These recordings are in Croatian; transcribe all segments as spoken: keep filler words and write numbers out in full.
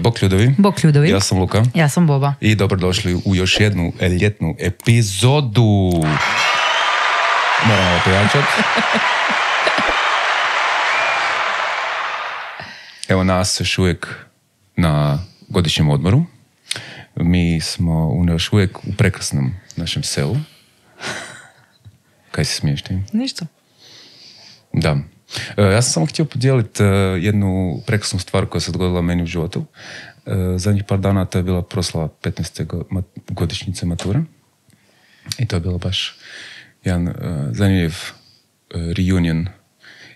Bok Ljudovi. Bok Ljudovi. Ja sam Luka. Ja sam Boba. I dobrodošli u još jednu ljetnu epizodu. Moramo ovo pojačati. Evo nas još uvijek na godišnjem odmoru. Mi smo još uvijek u prekrasnom našem selu. Kaj se smiješ ti? Ništa. Da. Ja sam samo htio podijeliti jednu prekrasnu stvar koja se dogodila meni u životu. Zadnjih par dana to je bila proslava petnaeste godišnjice mature. I to je bilo baš jedan zanimljiv reunion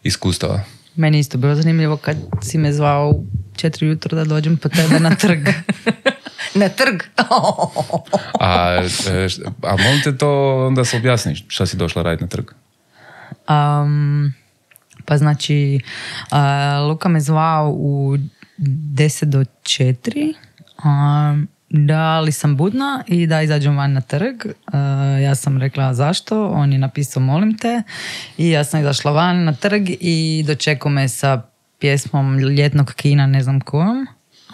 iskustava. Meni isto bilo zanimljivo kad si me zvao u četiri jutro da dođem po tebe na trg. Na trg? a, a molim te to onda se objasniš šta si došla raditi na trg? Um, pa znači uh, Luka me zvao u deset do četiri, um, da li sam budna i da izađem van na trg. Uh, ja sam rekla zašto, on je napisao molim te i ja sam izašla van na trg i dočekao me sa pjesmom ljetnog kina, ne znam kojom,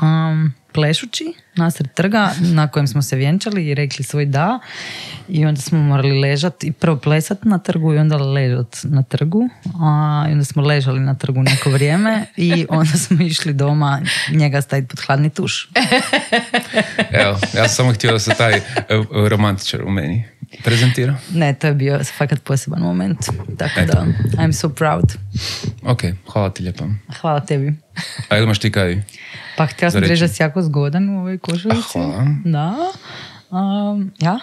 um, plešući nasred trga na kojem smo se vjenčali i rekli svoj da i onda smo morali ležati i prvo plesati na trgu i onda ležati na trgu, a, i onda smo ležali na trgu neko vrijeme i onda smo išli doma njega staviti pod hladni tuš. Evo, ja sam samo htio da se taj romantičar u meni prezentira. Ne, to je bio fakat poseban moment, tako Eto. Da I'm so proud. Ok, hvala ti lijepo. Hvala tebi. A imaš ti kaj? Pa htjela sam reći da si jako zgodan u ovoj košulici. Hvala. Da. Um, ja?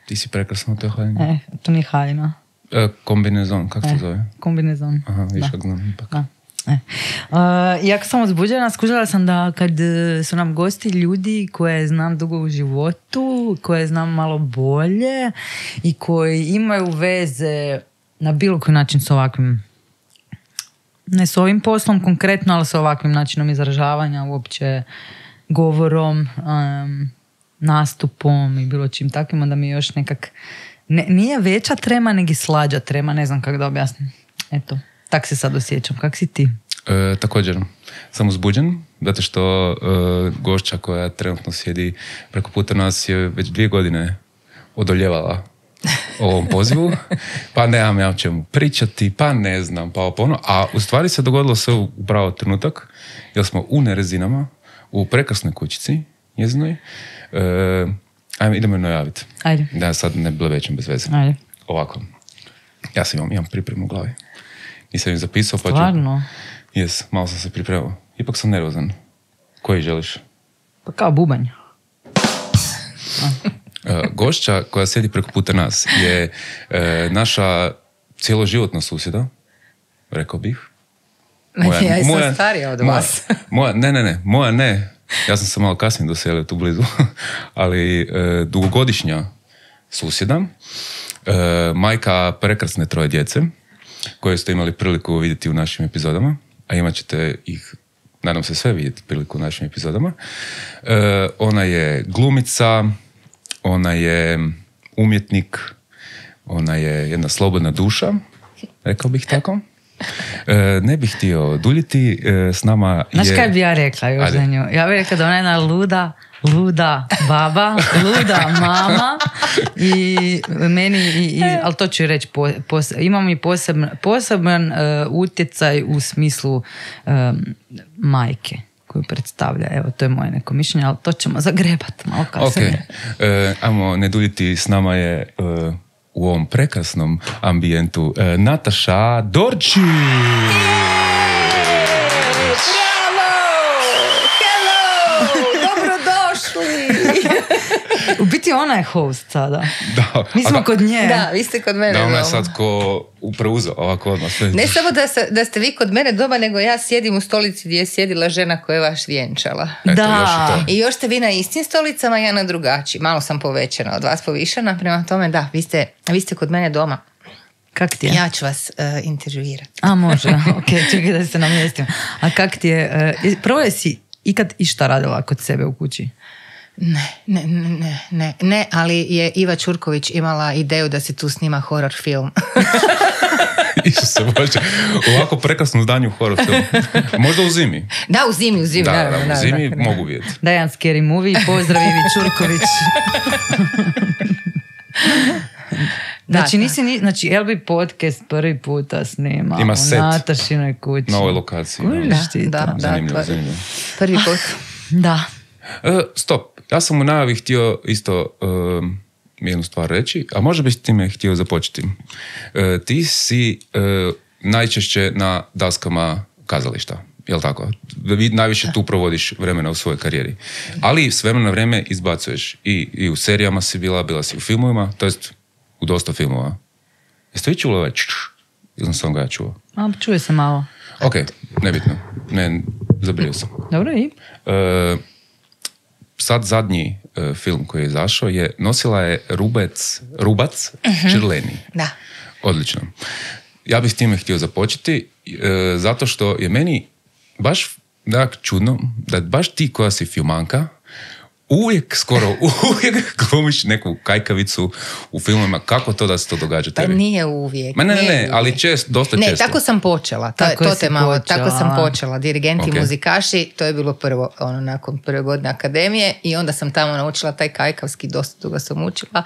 Ti si prekrasna u toj haljini. E, to nije haljina. E, kombinezon, kako se e, zove? Kombinezon. Aha, viš kako znam ipak. Da. E. Uh, jako sam uzbuđena, skužila sam da kad su nam gosti ljudi koje znam dugo u životu, koje znam malo bolje i koji imaju veze na bilo koji način s ovakvim, ne s ovim poslom konkretno, ali s ovakvim načinom izražavanja, uopće govorom, um, nastupom i bilo čim takvim, onda mi još nekak ne, nije veća trema, nego slađa trema, ne znam kako da objasnim. Eto, tak se sad osjećam. Kak si ti? E, također, sam uzbuđen, zato što e, gošća koja trenutno sjedi preko puta nas je već dvije godine odoljevala ovom pozivu, pa nemam ja o čemu pričati, pa ne znam, pa ono, a u stvari se dogodilo sve u pravo trenutak, jer smo u Nerezinama, u prekrasnoj kućici njezinoj. E, ajme, idemo je najaviti. Ajde. Da sad ne bilo većem bez veze. Ajde. Ovako, ja sam imam, imam pripremu u glavi. Nisam im zapisao, pa ću... Stvarno? Jes, malo sam se pripremao. Ipak sam nervozan. Koji želiš? Pa kao bubanj. Uh, gošća koja sjedi preko puta nas je uh, naša cjeloživotna susjeda, rekao bih. Moja, ja sam moja, starija od moja, vas. Moja, ne, ne, ne, moja ne. Ja sam se malo kasnije doselio tu blizu. Ali uh, dugogodišnja susjeda, uh, majka prekrasne troje djece, koje ste imali priliku vidjeti u našim epizodama, a imat ćete ih, nadam se, sve vidjeti priliku u našim epizodama. Uh, ona je glumica, ona je umjetnik, ona je jedna slobodna duša, rekao bih tako. E, ne bih htio duljiti, e, s nama je... Znaš kaj bi ja rekla još za nju? Ja bih rekla da ona je jedna luda, luda baba, luda mama i meni, i, i, ali to ću reći, po, pos, imam i poseban, poseban uh, utjecaj u smislu um, majke koju predstavlja. Evo, to je moje neko mišljenje, ali to ćemo zagrebati malo kasnije. Ok, e, ajmo ne duljiti, s nama je uh, u ovom prekrasnom ambijentu uh, Nataša Dorčić! Bravo! Hello! Dobrodošli! U biti ona je host sada. Da. Mi smo da, kod nje. Da, vi ste kod mene da, doma. ona je sad ko preuzeo ovako odmah. Sve. Ne samo da, se, da ste vi kod mene doma, nego ja sjedim u stolici gdje je sjedila žena koja je vaš vjenčala. Eto, da. još I još ste vi na istim stolicama, ja na drugačiji. Malo sam povećana od vas, povišena. Prema tome, da, vi ste, vi ste kod mene doma. Kak ti je? Ja ću vas uh, intervjuirati. A, može. Ok, čekaj da se namjestim. A kak ti je? Uh, prvo je si ikad išta radila kod sebe u kući? Ne, ne, ne, ne, ne, ali je Iva Ćurković imala ideju da se tu snima horror film. Isuse Bože, ovako prekrasno zdanje u horror filmu. Možda u zimi. Da, u zimi, u zimi. Da, naravno, da, u zimi naravno. mogu vidjeti. Da, jedan scary movie, pozdrav Ivi Ćurković. Znači, Da, nisi, ni, znači, L B podcast prvi puta snima Ima u set. Natašinoj kući. Na ovoj lokaciji. Kužiš Da. ti Da, to? da. Zanimljivo, to- zanimljivo. Prvi put. Da. E, stop, ja sam u najavi htio isto um, jednu stvar reći, a možda bih time htio započeti. E, ti si e, najčešće na daskama kazališta, jel tako? Vi najviše tu provodiš vremena u svojoj karijeri. Ali s vremena na vrijeme izbacuješ. I, i u serijama si bila, bila si u filmovima, to jest u dosta filmova. Jeste vi čuli ovaj čš? Ili sam ga ja čuo? A, čuje se malo. Ok, nebitno. Ne, zabrio sam. Dobro, i? E, sad zadnji e, film koji je izašao je nosila je Rubec, Rubac Črleni. Da. Odlično. Ja bih s time htio započeti e, zato što je meni baš tak čudno da baš ti koja si filmanka uvijek, skoro uvijek glumiš neku kajkavicu u filmovima. Kako to da se to događa Pa tebi? nije uvijek. Ma ne, ne, nije ne, uvijek. ali čest, dosta Ne, često. tako sam počela. To, Tako to si te malo, počela. tako sam počela. Dirigenti Ok. i muzikaši, to je bilo prvo, ono, nakon prve godine akademije i onda sam tamo naučila taj kajkavski, dosta dugo sam učila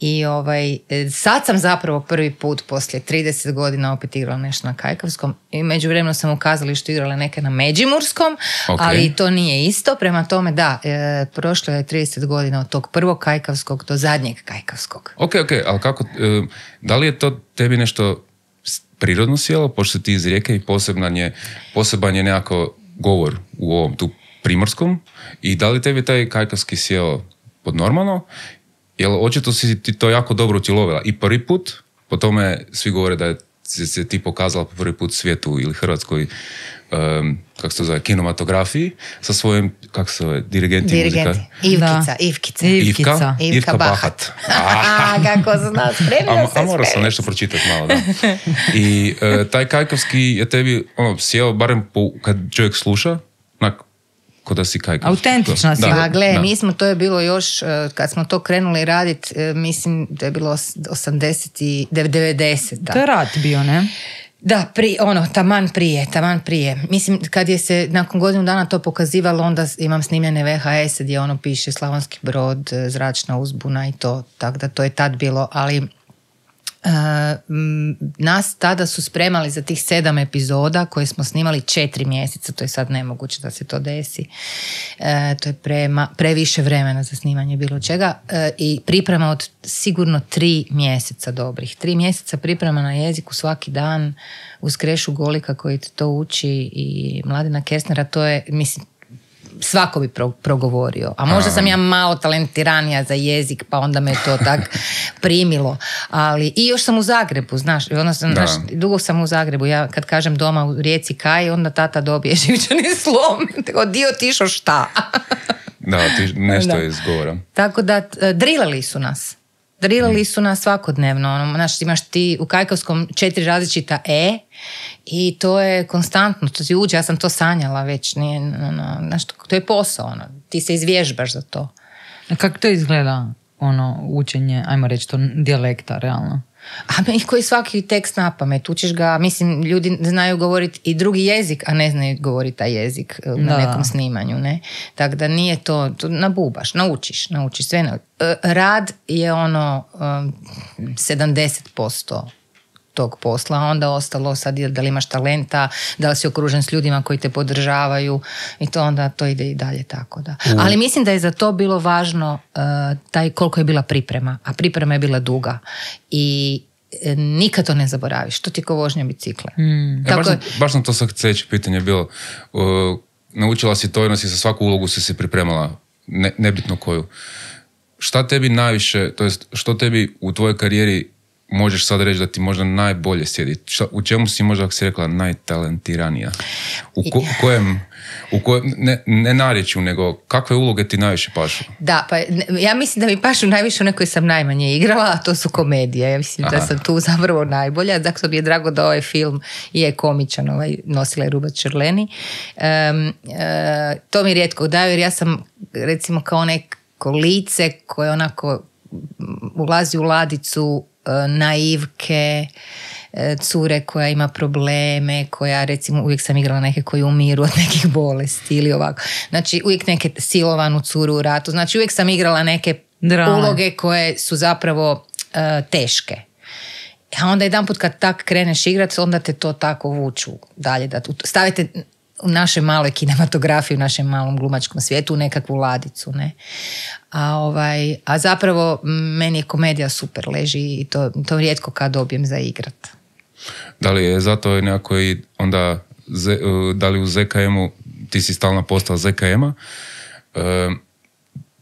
i ovaj, e, sad sam zapravo prvi put poslije trideset godina opet igrala nešto na kajkavskom i međuvremeno sam u kazalištu igrala neke na međimurskom, Ok. ali to nije isto, prema tome da, e, prošlo je trideset godina od tog prvog kajkavskog do zadnjeg kajkavskog. Ok, ok, ali kako, e, da li je to tebi nešto s- prirodno sjelo, pošto si ti iz Rijeke i poseban je, poseban je nekako govor u ovom tu primorskom i da li tebi taj kajkavski sjeo pod normalno, jer očito si ti to jako dobro utjelovila i prvi put, po tome svi govore da je si se ti pokazala po prvi put svijetu ili Hrvatskoj um, kako se to zove, kinematografiji sa svojim, kako se zove, dirigenti, Dirigenti. muzika. Ivkica, Da. Ivkica. I- Ivka, Ivkica. Ivka Bahat. Ah. A, kako zna, spremila A, se, a morao sam spremila nešto pročitati malo, da. I e, taj kajkavski je tebi, ono, sjeo, barem po, kad čovjek sluša, onak, ko da si kajkav. Autentična si. Da, Pa gle, da. mi smo, to je bilo još, eh, kad smo to krenuli raditi, eh, mislim da je bilo os- osamdeset i devedeset. To je rat bio, ne? Da, pri, ono, taman prije, taman prije. Mislim, kad je se nakon godinu dana to pokazivalo, onda s- imam snimljene V H S gdje ono piše Slavonski Brod, eh, zračna uzbuna i to, tako da to je tad bilo, ali Uh, m, nas tada su spremali za tih sedam epizoda koje smo snimali četiri mjeseca, to je sad nemoguće da se to desi. Uh, to je prema, previše vremena za snimanje bilo čega uh, i priprema od sigurno tri mjeseca dobrih. Tri mjeseca priprema na jeziku svaki dan uz Krešu Golika koji te to uči i Mladena Kersnera, to je, mislim, svako bi pro, progovorio. A možda sam ja malo talentiranija za jezik, pa onda me to tak primilo. Ali i još sam u Zagrebu, znaš, ono sam, Da. znaš, dugo sam u Zagrebu. Ja kad kažem doma u Rijeci Kaj, onda tata dobije živčani slom. Tako, dio tišo šta? Da, ti nešto Da. je izgovora. Tako da, e, drilali su nas. Drilali su nas svakodnevno. Ono, znaš, imaš ti u kajkavskom četiri različita E i to je konstantno, to ti uđe, ja sam to sanjala već. Nije, ono, znaš, to, to je posao, ono, ti se izvježbaš za to. A kako to izgleda, ono, učenje, ajmo reći to, dijalekta, realno? A mi koji svaki tekst na pamet, učiš ga, mislim, ljudi znaju govoriti i drugi jezik, a ne znaju govoriti taj jezik e, na Da. nekom snimanju, ne? Tako da nije to, to nabubaš, naučiš, naučiš sve. Na, e, rad je ono um, sedamdeset posto tog posla, a onda ostalo sad je da li imaš talenta, da li si okružen s ljudima koji te podržavaju i to onda to ide i dalje tako da. Ali mislim da je za to bilo važno uh, taj koliko je bila priprema, a priprema je bila duga i e, nikad to ne zaboraviš, to ti je ko vožnja bicikla. Mm. E, Tako baš, je- sam, baš sam to sad sljedeće pitanje bilo. Uh, naučila si to i si za svaku ulogu si se pripremala, ne, nebitno koju. Šta tebi najviše, to jest što tebi u tvojoj karijeri možeš sad reći da ti možda najbolje sjedi? Šta, u čemu si možda, ako si rekla, najtalentiranija? U ko, kojem, u kojem, ne, ne narječju, nego kakve uloge ti najviše pašu? Da, pa ne- ja mislim da mi pašu najviše one koje sam najmanje igrala, a to su komedije. Ja mislim da Aha. sam tu zapravo najbolja. Zato mi je drago da ovaj film je komičan, ovaj nosila je Rubac Črleni. Um, e, to mi rijetko daju jer ja sam recimo kao nek neko lice koje onako ulazi u ladicu naivke, cure koja ima probleme, koja recimo uvijek sam igrala neke koji umiru od nekih bolesti ili ovako. Znači uvijek neke silovanu curu u ratu. Znači uvijek sam igrala neke Drame. uloge koje su zapravo uh, teške. A onda jedan put kad tak kreneš igrati, onda te to tako vuču dalje. Da stavite u našoj maloj kinematografiji, u našem malom glumačkom svijetu u nekakvu ladicu. Ne? A, ovaj, a zapravo meni je komedija super leži i to, to rijetko kad dobijem za igrat. Da li je zato nekako i onda, da li u Z K M-u, ti si stalna postala Z K M-a, e,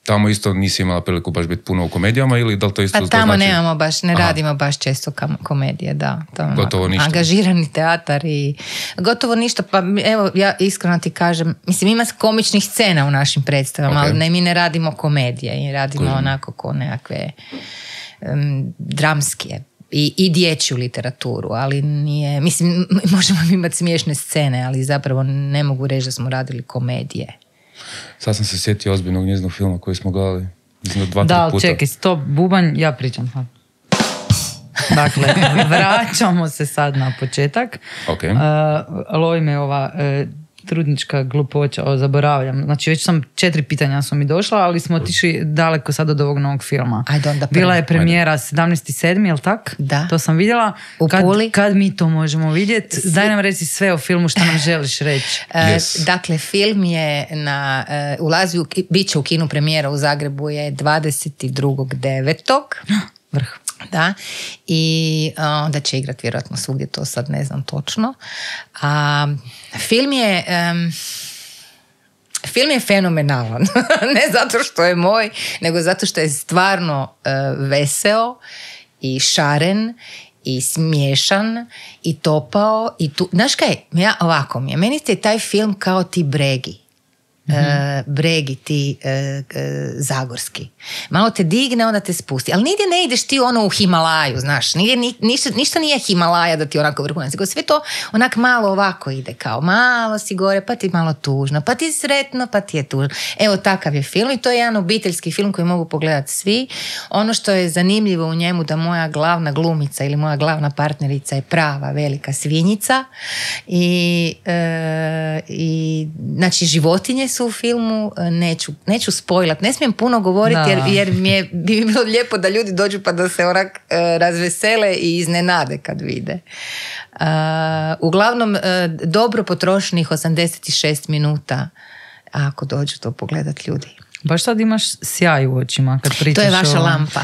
tamo isto nisi imala priliku baš biti puno u komedijama ili da li to isto pa tamo znači... nemamo baš, ne Aha. radimo baš često kam, komedije, da. To gotovo ništa. Angažirani teatar i gotovo ništa, pa evo ja iskreno ti kažem, mislim ima komičnih scena u našim predstavama, okay. ali ne, mi ne radimo komedije i radimo Kužim. onako ko nekakve um, dramske i, i dječju literaturu, ali nije, mislim možemo imati smiješne scene, ali zapravo ne mogu reći da smo radili komedije. Sad sam se sjetio ozbiljnog njezinog filma koji smo gledali. Dva, da, puta. čekaj, stop, bubanj, ja pričam. Dakle, vraćamo se sad na početak. Okay. Uh, lovi me ova uh, trudnička glupoća, o, zaboravljam. Znači, već sam, četiri pitanja su mi došla, ali smo otišli daleko sad od ovog novog filma. Ajde onda Bila je premijera sedamnaesti sedmi, jel tak? Da. To sam vidjela. U kad, Puli. Kad mi to možemo vidjeti? Svi... Daj nam reci sve o filmu, što nam želiš reći. Yes. Uh, dakle, film je na, uh, ulazi u, bit će u kinu premijera u Zagrebu je dvadeset drugog devetog Vrh. Da, i onda će igrati vjerojatno svugdje, to sad ne znam točno. A, film je um, film je fenomenalan. Ne zato što je moj, nego zato što je stvarno uh, veseo i šaren i smiješan i topao i tu, znaš kaj, ja ovako mi je, meni je taj film kao ti Bregi. Mm-hmm. Uh, bregi ti uh, uh, zagorski. Malo te digne, onda te spusti. Ali nigdje ne ideš ti ono u Himalaju, znaš. Nigdje, ni, ništa, ništa nije Himalaja da ti onako vrhunac. Sve to onak malo ovako ide. Kao malo si gore, pa ti malo tužno, pa ti je sretno, pa ti je tužno. Evo takav je film i to je jedan obiteljski film koji mogu pogledati svi. Ono što je zanimljivo u njemu da moja glavna glumica ili moja glavna partnerica je prava velika svinjica i, uh, i znači životinje su u filmu, neću, neću spojlat, ne smijem puno govoriti jer, jer mi je, bi mi bilo lijepo da ljudi dođu pa da se onak uh, razvesele i iznenade kad vide. Uh, uglavnom, uh, dobro potrošenih osamdeset šest minuta ako dođu to pogledat ljudi. Baš sad imaš sjaj u očima kad pričaš. To je vaša o... lampa.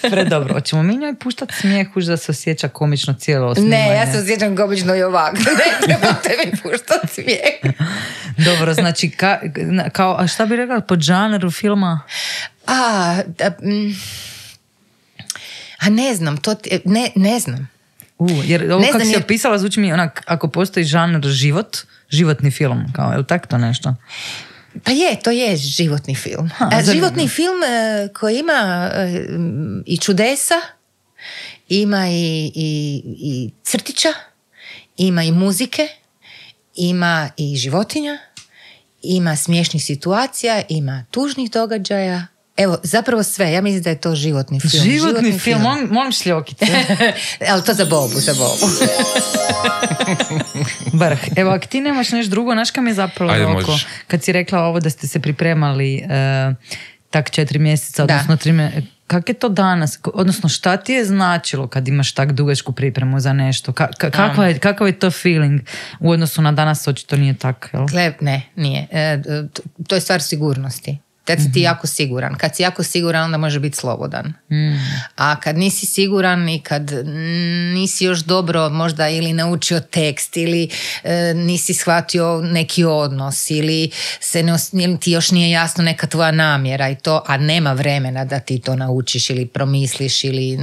Predobro, hoćemo mi njoj puštati smijeh už da se osjeća komično cijelo snimanje? Ne, ja se osjećam komično i ovako. Ne trebate mi puštati smijeh. Dobro, znači, ka, kao, a šta bi rekla po žanru filma? A, da, mm, a ne znam, to ti, ne, ne znam. U, jer ovo ne kako znam, si jer... opisala zvuči mi onak, ako postoji žanr život, životni film, kao, je li tako to nešto? Pa je, to je životni film. Ha, A, životni film uh, koji ima uh, i čudesa, ima i, i, i crtića, ima i muzike, ima i životinja, ima smiješnih situacija, ima tužnih događaja. Evo, zapravo sve. Ja mislim da je to životni film. Životni, životni film, film. molim, molim šljokice. Ali to za Bobu, za Bobu. Vrh. Evo, ako ti nemaš nešto drugo, znaš kam je zapalo Ajde, oko? možeš. Kad si rekla ovo da ste se pripremali uh, tak četiri mjeseca, odnosno tri mjeseca, kako je to danas? Odnosno, šta ti je značilo kad imaš tak dugačku pripremu za nešto? Ka- ka- kako je, kakav je to feeling u odnosu na danas? Očito nije tako, jel? Gle, ne, nije. E, to je stvar sigurnosti. Kad si ti jako siguran. Kad si jako siguran, onda može biti slobodan. Mm. A kad nisi siguran i kad nisi još dobro možda ili naučio tekst ili e, nisi shvatio neki odnos ili, se ne, ili ti još nije jasno neka tvoja namjera i to, a nema vremena da ti to naučiš ili promisliš ili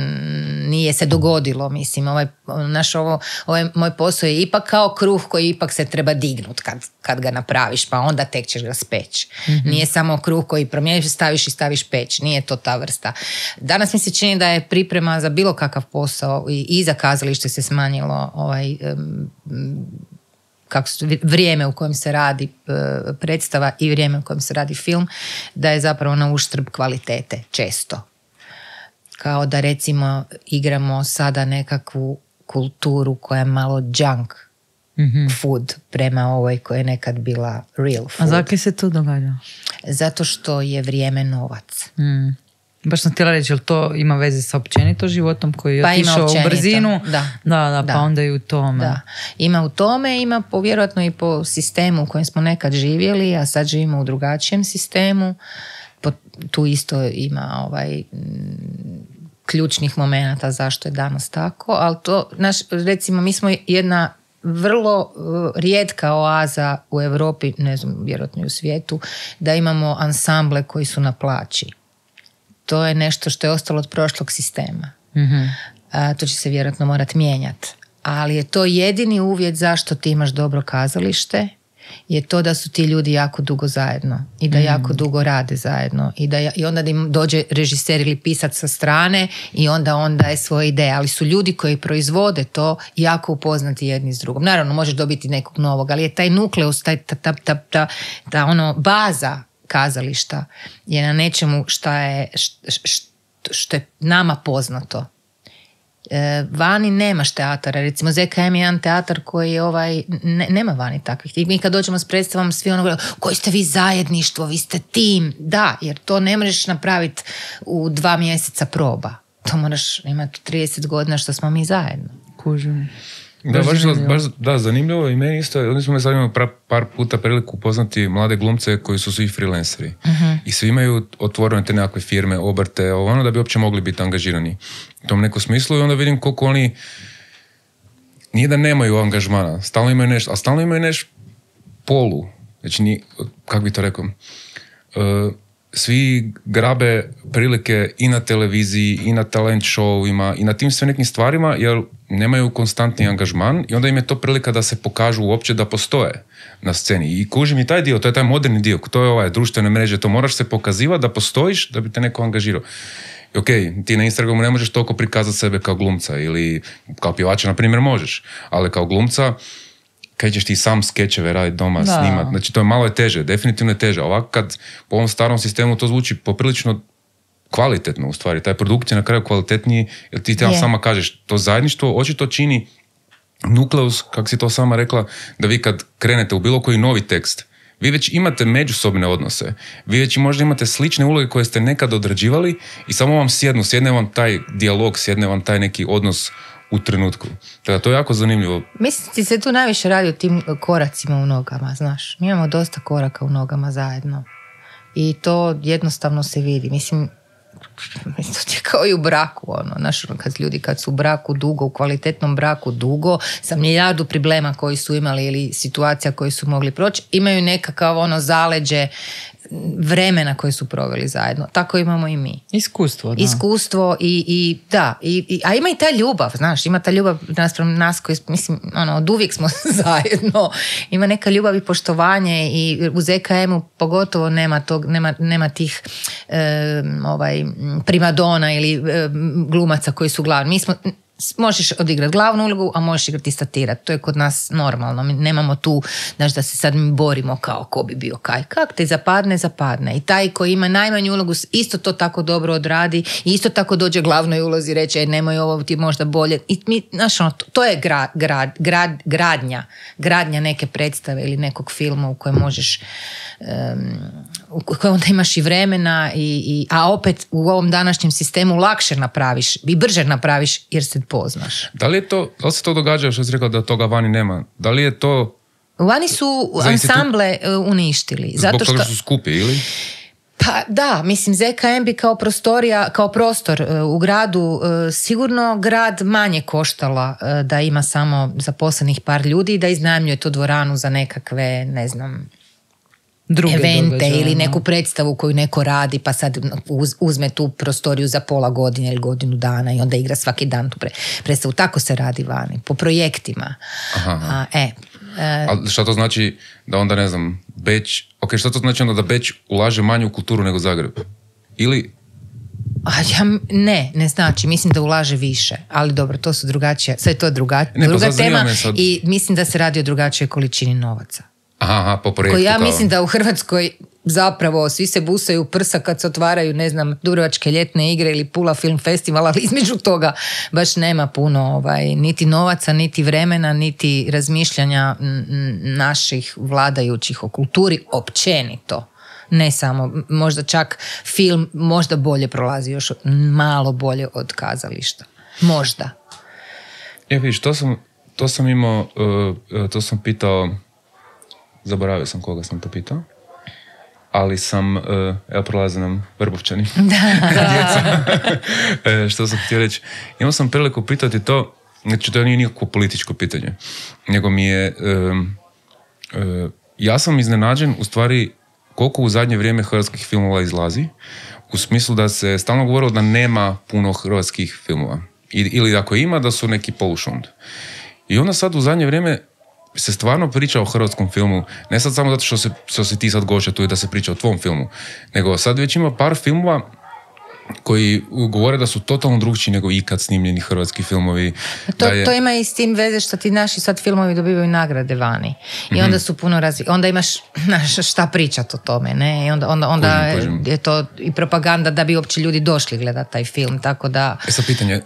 nije se dogodilo. Mislim, ovaj, naš ovo, ovaj moj posao je ipak kao kruh koji ipak se treba dignut kad, kad ga napraviš, pa onda tek ćeš ga speći. Mm-hmm. Nije samo kruh koji promijeniš, staviš i staviš peć. Nije to ta vrsta. Danas mi se čini da je priprema za bilo kakav posao i, i za kazalište se smanjilo ovaj, um, kako su, vrijeme u kojem se radi e, predstava i vrijeme u kojem se radi film, da je zapravo na uštrb kvalitete, često. Kao da recimo igramo sada nekakvu kulturu koja je malo junk mm-hmm. food prema ovoj koja je nekad bila real food. A zakaj se to događa? Zato što je vrijeme novac. Mm. Baš sam htjela reći, jel to ima veze sa općenito životom koji je pa otišao u brzinu? Da. Da, da, da. pa onda i u tome. Da. Ima u tome, ima po, vjerojatno i po sistemu u kojem smo nekad živjeli, a sad živimo u drugačijem sistemu. Po, tu isto ima ovaj... ključnih momenata zašto je danas tako, ali to, naš, recimo, mi smo jedna vrlo uh, rijetka oaza u Europi, ne znam, vjerojatno i u svijetu, da imamo ansamble koji su na plaći. To je nešto što je ostalo od prošlog sistema. Mm-hmm. A, to će se vjerojatno morati mijenjati. Ali je to jedini uvjet zašto ti imaš dobro kazalište, je to da su ti ljudi jako dugo zajedno i da mm. jako dugo rade zajedno i, da, i onda da im dođe režiser ili pisac sa strane i onda on daje svoje ideje, ali su ljudi koji proizvode to jako upoznati jedni s drugom. Naravno, možeš dobiti nekog novog, ali je taj nukleus, taj, ta, ta, ta, ta, ta ono, baza kazališta je na nečemu što je, što je nama poznato. E, vani nemaš teatara, recimo Z K M je jedan teatar koji je ovaj, ne, nema vani takvih. I mi kad dođemo s predstavom svi ono gledaju, koji ste vi zajedništvo, vi ste tim. Da, jer to ne možeš napraviti u dva mjeseca proba. To moraš imati trideset godina što smo mi zajedno. Kužim. Da, baš, baš, da, zanimljivo i meni isto, oni smo me sad imali par, par puta priliku upoznati mlade glumce koji su svi freelanceri. Uh-huh. I svi imaju otvorene te nekakve firme, obrte, ono da bi uopće mogli biti angažirani u tom nekom smislu i onda vidim koliko oni nije da nemaju angažmana, stalno imaju nešto, a stalno imaju nešto polu. Znači, ni, kako bi to rekao, uh, svi grabe prilike i na televiziji, i na talent showima, i na tim sve nekim stvarima, jer nemaju konstantni angažman i onda im je to prilika da se pokažu uopće da postoje na sceni. I kužim i taj dio, to je taj moderni dio, to je ovaj društvene mreže, to moraš se pokazivati da postojiš, da bi te neko angažirao. I ok, ti na Instagramu ne možeš toliko prikazati sebe kao glumca ili kao pjevača, na primjer, možeš, ali kao glumca kaj ćeš ti sam skečeve raditi doma, da. Snimat. Znači, to je malo je teže, definitivno je teže. Ovako kad po ovom starom sistemu to zvuči poprilično kvalitetno u stvari. Taj produkt je na kraju kvalitetniji, jer ti tamo sama kažeš, to zajedništvo očito čini nukleus, kako si to sama rekla, da vi kad krenete u bilo koji novi tekst, vi već imate međusobne odnose. Vi već možda imate slične uloge koje ste nekad odrađivali i samo vam sjednu, sjedne vam taj dijalog, sjedne vam taj neki odnos u trenutku. Teda, to je jako zanimljivo. Mislim, ti se tu najviše radi o tim koracima u nogama, znaš. Mi imamo dosta koraka u nogama zajedno. I to jednostavno se vidi. Mislim, to je kao i u braku, ono, znaš, kad ljudi kad su u braku dugo, u kvalitetnom braku dugo, sa milijardu problema koji su imali ili situacija koji su mogli proći, imaju nekakav ono zaleđe vremena koje su proveli zajedno. Tako imamo i mi. Iskustvo, da. Iskustvo i, i da, i, i, a ima i ta ljubav, znaš, ima ta ljubav naspram nas koji, mislim, ono, od uvijek smo zajedno. Ima neka ljubav i poštovanje i u Z K M-u pogotovo nema tog, nema, nema tih e, ovaj, primadona ili e, glumaca koji su glavni. Mi smo možeš odigrati glavnu ulogu, a možeš igrati statirati. To je kod nas normalno. Mi nemamo tu, znaš, da se sad mi borimo kao ko bi bio kaj. Kak te zapadne, zapadne. I taj koji ima najmanju ulogu isto to tako dobro odradi i isto tako dođe glavnoj ulozi i reče, e, nemoj ovo ti možda bolje. I mi, znaš, ono, to je gra, gra, gra, gradnja. Gradnja neke predstave ili nekog filma u kojem možeš um, u kojem onda imaš i vremena i, i, a opet u ovom današnjem sistemu lakše napraviš i brže napraviš jer se poznaš. Da li je to, da li se to događa što si rekla da toga vani nema? Da li je to... Vani su ansamble uništili. Zbog zato što... toga su skupi, ili? Pa da, mislim Z K M bi kao prostorija, kao prostor u gradu sigurno grad manje koštala da ima samo zaposlenih par ljudi i da iznajmljuje tu dvoranu za nekakve, ne znam, druge evente događaje, ili neku predstavu koju neko radi pa sad uz, uzme tu prostoriju za pola godine ili godinu dana i onda igra svaki dan tu pre, predstavu. Tako se radi vani, po projektima. Aha, aha. A, e, e, A šta to znači da onda, ne znam, Beč, ok, šta to znači onda da Beč ulaže manje u kulturu nego Zagreb? Ili A ja, ne, ne znači, mislim da ulaže više, ali dobro, to su drugačije, sve je to druga, ne, druga pa tema sad... i mislim da se radi o drugačijoj količini novaca. Aha, aha, po projektu. Koji ja kao... mislim da u Hrvatskoj zapravo svi se busaju prsa kad se otvaraju, ne znam, Dubrovačke ljetne igre ili Pula film festival, ali između toga baš nema puno ovaj, niti novaca, niti vremena, niti razmišljanja naših vladajućih o kulturi općenito. Ne samo, možda čak film možda bolje prolazi, još malo bolje od kazališta. Možda. E, vidiš, to sam, to sam imao, uh, to sam pitao, zaboravio sam koga sam to pitao, ali sam, uh, evo prolaze nam Vrbovčani, djeca, e, što sam htio reći. Imao sam priliku pitati to, znači to nije nikakvo političko pitanje, nego mi je, uh, uh, ja sam iznenađen u stvari koliko u zadnje vrijeme hrvatskih filmova izlazi, u smislu da se stalno govorilo da nema puno hrvatskih filmova. I, ili ako ima, da su neki polušund. I onda sad u zadnje vrijeme se stvarno priča o hrvatskom filmu, ne sad samo zato što se, što si ti sad gošća tu i da se priča o tvom filmu, nego sad već ima par filmova koji govore da su totalno drugčiji nego ikad snimljeni hrvatski filmovi. To, je... to ima i s tim veze što ti naši sad filmovi dobivaju nagrade vani. I mm-hmm. onda su puno razvi... Onda imaš znaš, šta pričat o tome, ne? I onda, onda, onda kužim, kužim. je to i propaganda da bi uopće ljudi došli gledati taj film, tako da... E sad pitanje,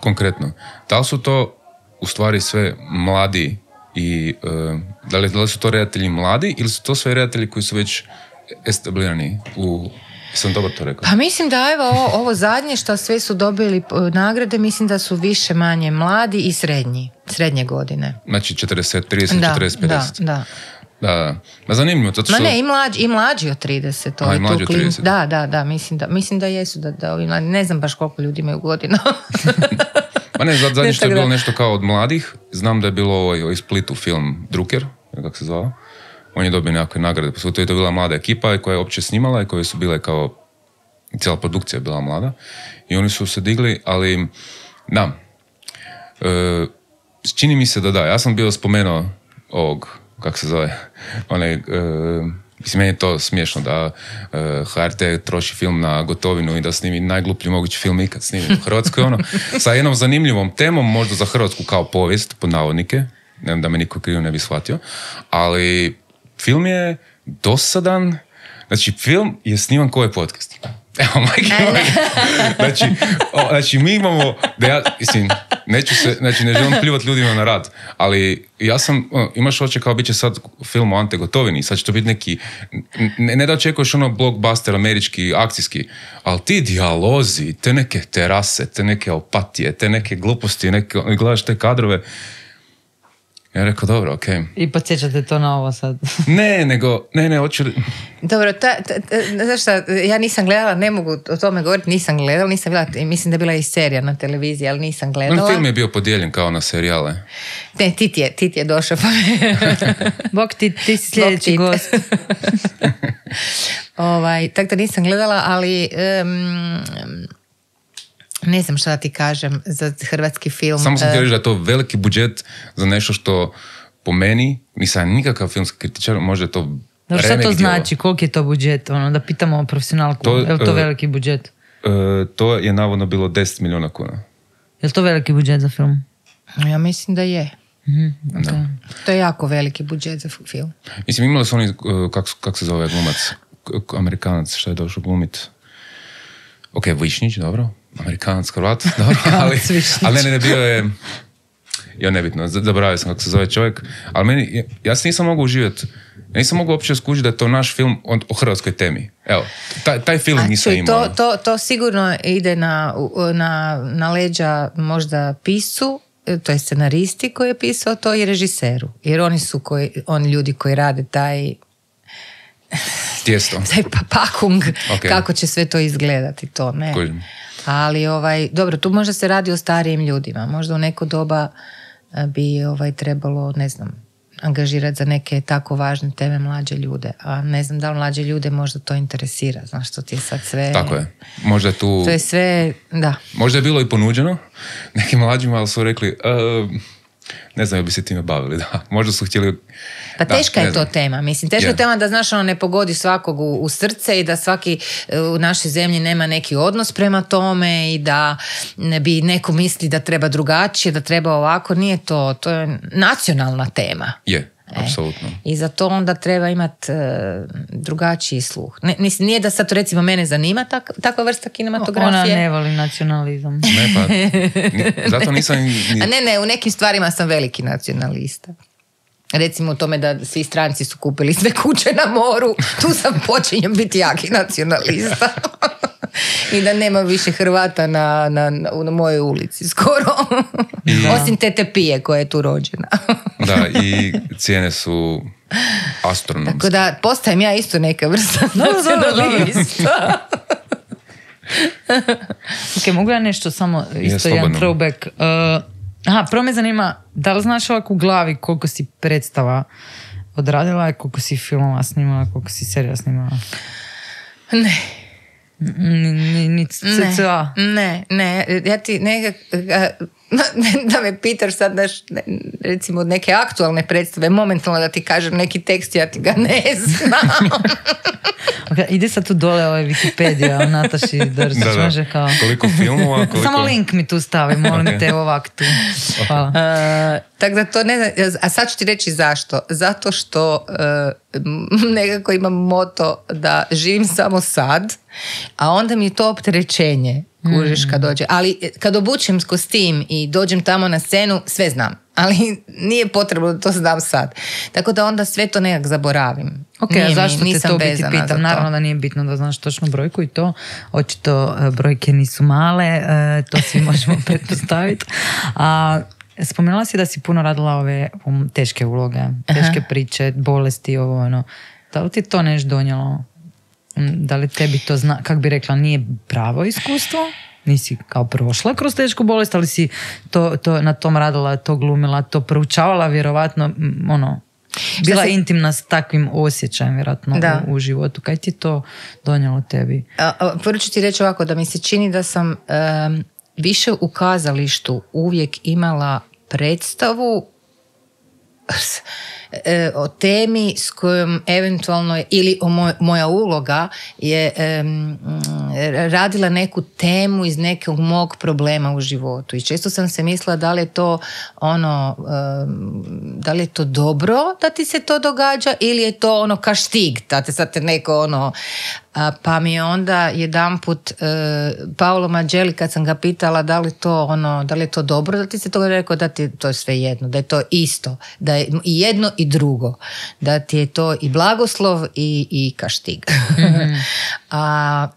konkretno, da li su to u stvari sve mladi i uh, da, li, da li su to redatelji mladi ili su to sve redatelji koji su već establirani u... Sam dobro to rekao. Pa mislim da evo ovo, ovo zadnje što sve su dobili nagrade, mislim da su više manje mladi i srednji, srednje godine. Znači četrdeset, trideset, da, četrdeset, pedeset. Da, da. Da, da. Zanimljivo. To što... Ma ne, i mlađi, i mlađi od trideset. A, i mlađi od trideset. Da, da, da, mislim da, mislim da jesu, da, da ovi mladi, ne znam baš koliko ljudi imaju godina. Ma ne, zadnje ne, što je bilo da. Nešto kao od mladih, znam da je bilo ovaj, ovaj Splitu film Drucker, kako se zvao. On je dobio nekakve nagrade, pa to je to bila mlada ekipa koja je uopće snimala i koje su bile kao, cijela produkcija je bila mlada i oni su se digli, ali da, e, čini mi se da da, ja sam bio spomenuo ovog, kako se zove, onaj, e, mislim, meni je to smiješno da e, H R T troši film na gotovinu i da snimi najgluplji mogući film ikad snimi u Hrvatskoj, ono, sa jednom zanimljivom temom, možda za Hrvatsku kao povijest, pod navodnike, ne znam da me niko krivo ne bi shvatio, ali film je dosadan, znači film je sniman ko je podcast. Evo, majke moje. Znači, o, znači, mi imamo, da ja, mislim, neću se, znači, ne želim pljuvati ljudima na rad, ali ja sam, o, imaš oče kao bit će sad film o Ante Gotovini, sad će to biti neki, ne, ne da očekuješ ono blockbuster američki, akcijski, ali ti dijalozi, te neke terase, te neke opatije, te neke gluposti, neke, gledaš te kadrove. Ja rekao, dobro, okej. Okay. I podsjećate to na ovo sad? Ne, nego, ne, ne, hoću... Dobro, ta, ta, ta, znaš šta, ja nisam gledala, ne mogu o tome govoriti, nisam gledala, nisam gledala, mislim da je bila i serija na televiziji, ali nisam gledala. On film je bio podijeljen kao na serijale. Ne, ti ti je, ti ti je došao. Pa... Bog ti, ti si sljedeći gost. ovaj, tako da nisam gledala, ali... Um, ne znam šta da ti kažem za hrvatski film. Samo sam ti reći da je to veliki budžet za nešto što po meni, nisam nikakav filmski kritičar, možda je to no, šta to znači? Koliko je to budžet? Ono, da pitamo profesionalku, to, je li to uh, veliki budžet? Uh, to je navodno bilo deset milijuna kuna. Je li to veliki budžet za film? Ja mislim da je. Mm-hmm, okay. To je jako veliki budžet za film. Mislim, imali su oni, uh, kako kak se zove glumac, Amerikanac, šta je došao glumit? Ok, Višnjić, dobro. Amerikanac, Hrvat, dobro, ali, ali ne, ne, ne, bio je, jo, nebitno, zaboravio sam kako se zove čovjek, ali meni, ja se nisam mogao uživjeti, ja nisam mogao uopće skužiti da je to naš film o, o hrvatskoj temi. Evo, taj, taj film nisam imao. To, to, to sigurno ide na, na, na leđa možda piscu, to je scenaristi koji je pisao to i režiseru, jer oni su koji, oni ljudi koji rade taj tijesto. taj pakung, okay. Kako će sve to izgledati, to ne. Kojim. Ali, ovaj, dobro, tu možda se radi o starijim ljudima. Možda u neko doba bi ovaj, trebalo, ne znam, angažirati za neke tako važne teme mlađe ljude. A ne znam da li mlađe ljude možda to interesira. Znaš, što ti je sad sve... Tako je. Možda tu... To je sve, da. Možda je bilo i ponuđeno nekim mlađima, ali su rekli... Uh, Ne znam, bi se time bavili, da. Možda su htjeli... Pa da, teška je to znam. tema. Mislim, teška je Je. tema da, znaš, ono ne pogodi svakog u, u srce i da svaki u našoj zemlji nema neki odnos prema tome i da ne bi neko misli da treba drugačije, da treba ovako. Nije to. To je nacionalna tema. Je, apsolutno. I za to onda treba imati uh, drugačiji sluh. Ne, nis- nije da sad recimo mene zanima tak, takva vrsta kinematografije. Ona ne voli nacionalizam. Ne, pa, ni, zato nisam... Ni, A ne, ne, u nekim stvarima sam veliki nacionalista. Recimo u tome da svi stranci su kupili sve kuće na moru, tu sam počinjem biti jaki nacionalista. I da nema više Hrvata na, na, na, na mojoj ulici skoro. I- Osim tete Pije koja je tu rođena. da, i cijene su astronomske. Tako da postajem ja isto neka vrsta dobro, nacionalista. Ok, mogu ja nešto samo, isto jedan slobodno. throwback. Uh, aha, prvo me zanima, da li znaš ovako u glavi koliko si predstava odradila, koliko si filmova snimala, koliko si serija snimala? Ne. Ni, ni, ni Ne, cca. ne, ne, ja ti nekak, da me pitaš sad, daš, recimo neke aktualne predstave, momentalno da ti kažem neki tekst, ja ti ga ne znam. Okay, ide sad tu dole ovaj Wikipedia o Nataši Držić, Da, da. može kao... Koliko filmova, koliko... Samo link mi tu stavi, molim Ok. te ovak tu. Hvala. Uh, tako da to ne znam, a sad ću ti reći zašto. Zato što uh, nekako imam moto da živim samo sad, a onda mi je to opterećenje, kužiš kad dođe. Ali kad obučem kostim i dođem tamo na scenu, sve znam. Ali nije potrebno da to znam sad. Tako da onda sve to nekak zaboravim. Ok, Nije a mi- zašto te nisam to biti vezana za pitam? to. Naravno da nije bitno da znaš točnu brojku i to. Očito e, brojke nisu male, e, to svi možemo pretpostaviti. A spomenula si da si puno radila ove um, teške uloge, teške priče, bolesti, ovo ono. Da li ti to nešto donijelo? Mm, Da li tebi to zna, kak bi rekla, nije pravo iskustvo? Nisi kao prošla kroz tešku bolest, ali si to, to, na tom radila, to glumila, to proučavala vjerovatno, mm, ono, bila se- intimna s takvim osjećajem vjerojatno Da. u, u životu. Kaj ti to donijelo tebi? A, a, Prvo ću ti reći ovako, da mi se čini da sam em, više u kazalištu uvijek imala predstavu s- e, o temi s kojom eventualno, ili o moj, moja uloga je em, radila neku temu iz nekog mog problema u životu. I često sam se mislila da li je to ono, em, da li je to dobro da ti se to događa ili je to ono kaštig, da te sad te neko ono. A, pa mi je onda jedanput e, Paolo Mageli, kad sam ga pitala da li to ono, da li je to dobro da ti se to, rekao da ti je to sve jedno, da je to isto, da je i jedno i drugo, da ti je to i blagoslov i, i kaštig. A,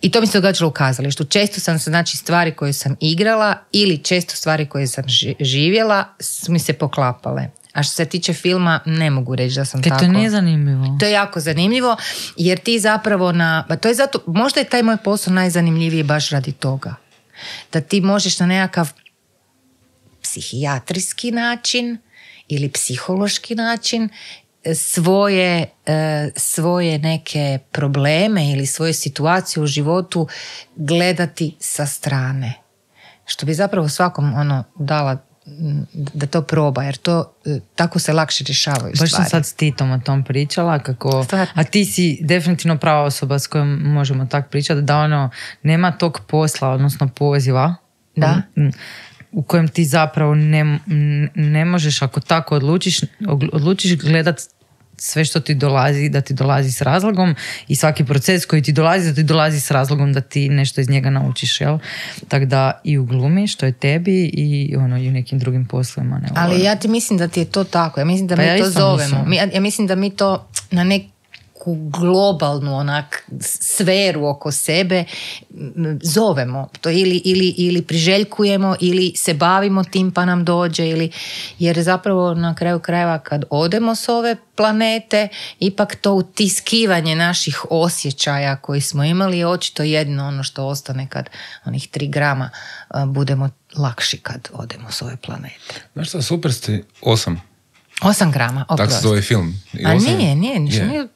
i to mi se događalo u kazalištu. Često sam se, znači, stvari koje sam igrala ili često stvari koje sam ži- živjela su mi se poklapale. A što se tiče filma, ne mogu reći da sam Kaj tako. to nije zanimljivo? To je jako zanimljivo, jer ti zapravo na, pa to je zato, možda je taj moj posao najzanimljiviji baš radi toga. Da ti možeš na nekakav psihijatrijski način ili psihološki način e, svoje, e, svoje neke probleme ili svoje situacije u životu gledati sa strane. Što bi zapravo svakom ono dala m, da to proba, jer to e, tako se lakše rješavaju Baš sam stvari. sad s Titom o tom pričala, kako, Stvarno? a ti si definitivno prava osoba s kojom možemo tak pričati, da ono, nema tog posla, odnosno poziva, Da. m, u kojem ti zapravo ne, m, ne možeš, ako tako odlučiš, ogl- odlučiš gledat sve što ti dolazi, da ti dolazi s razlogom i svaki proces koji ti dolazi, da ti dolazi s razlogom da ti nešto iz njega naučiš, jel? Tako da i u glumi, što je tebi, i ono, i u nekim drugim poslovima. Ne, Ali ja ti mislim da ti je to tako. Ja mislim da Pa mi ja to isto zovemo. mislim. Mi, ja, ja mislim da mi to na neku globalnu onak sferu oko sebe m, zovemo. To ili, ili, ili priželjkujemo ili se bavimo tim pa nam dođe. Ili, jer zapravo na kraju krajeva kad odemo s ove planete, ipak to utiskivanje naših osjećaja koji smo imali je očito jedno ono što ostane kad onih tri grama a, budemo lakši kad odemo s ove planete. Znaš šta, super ste, osam. Osam grama, Tako se oprosti. zove film. I A osam- nije, nije, ništa Je. nije.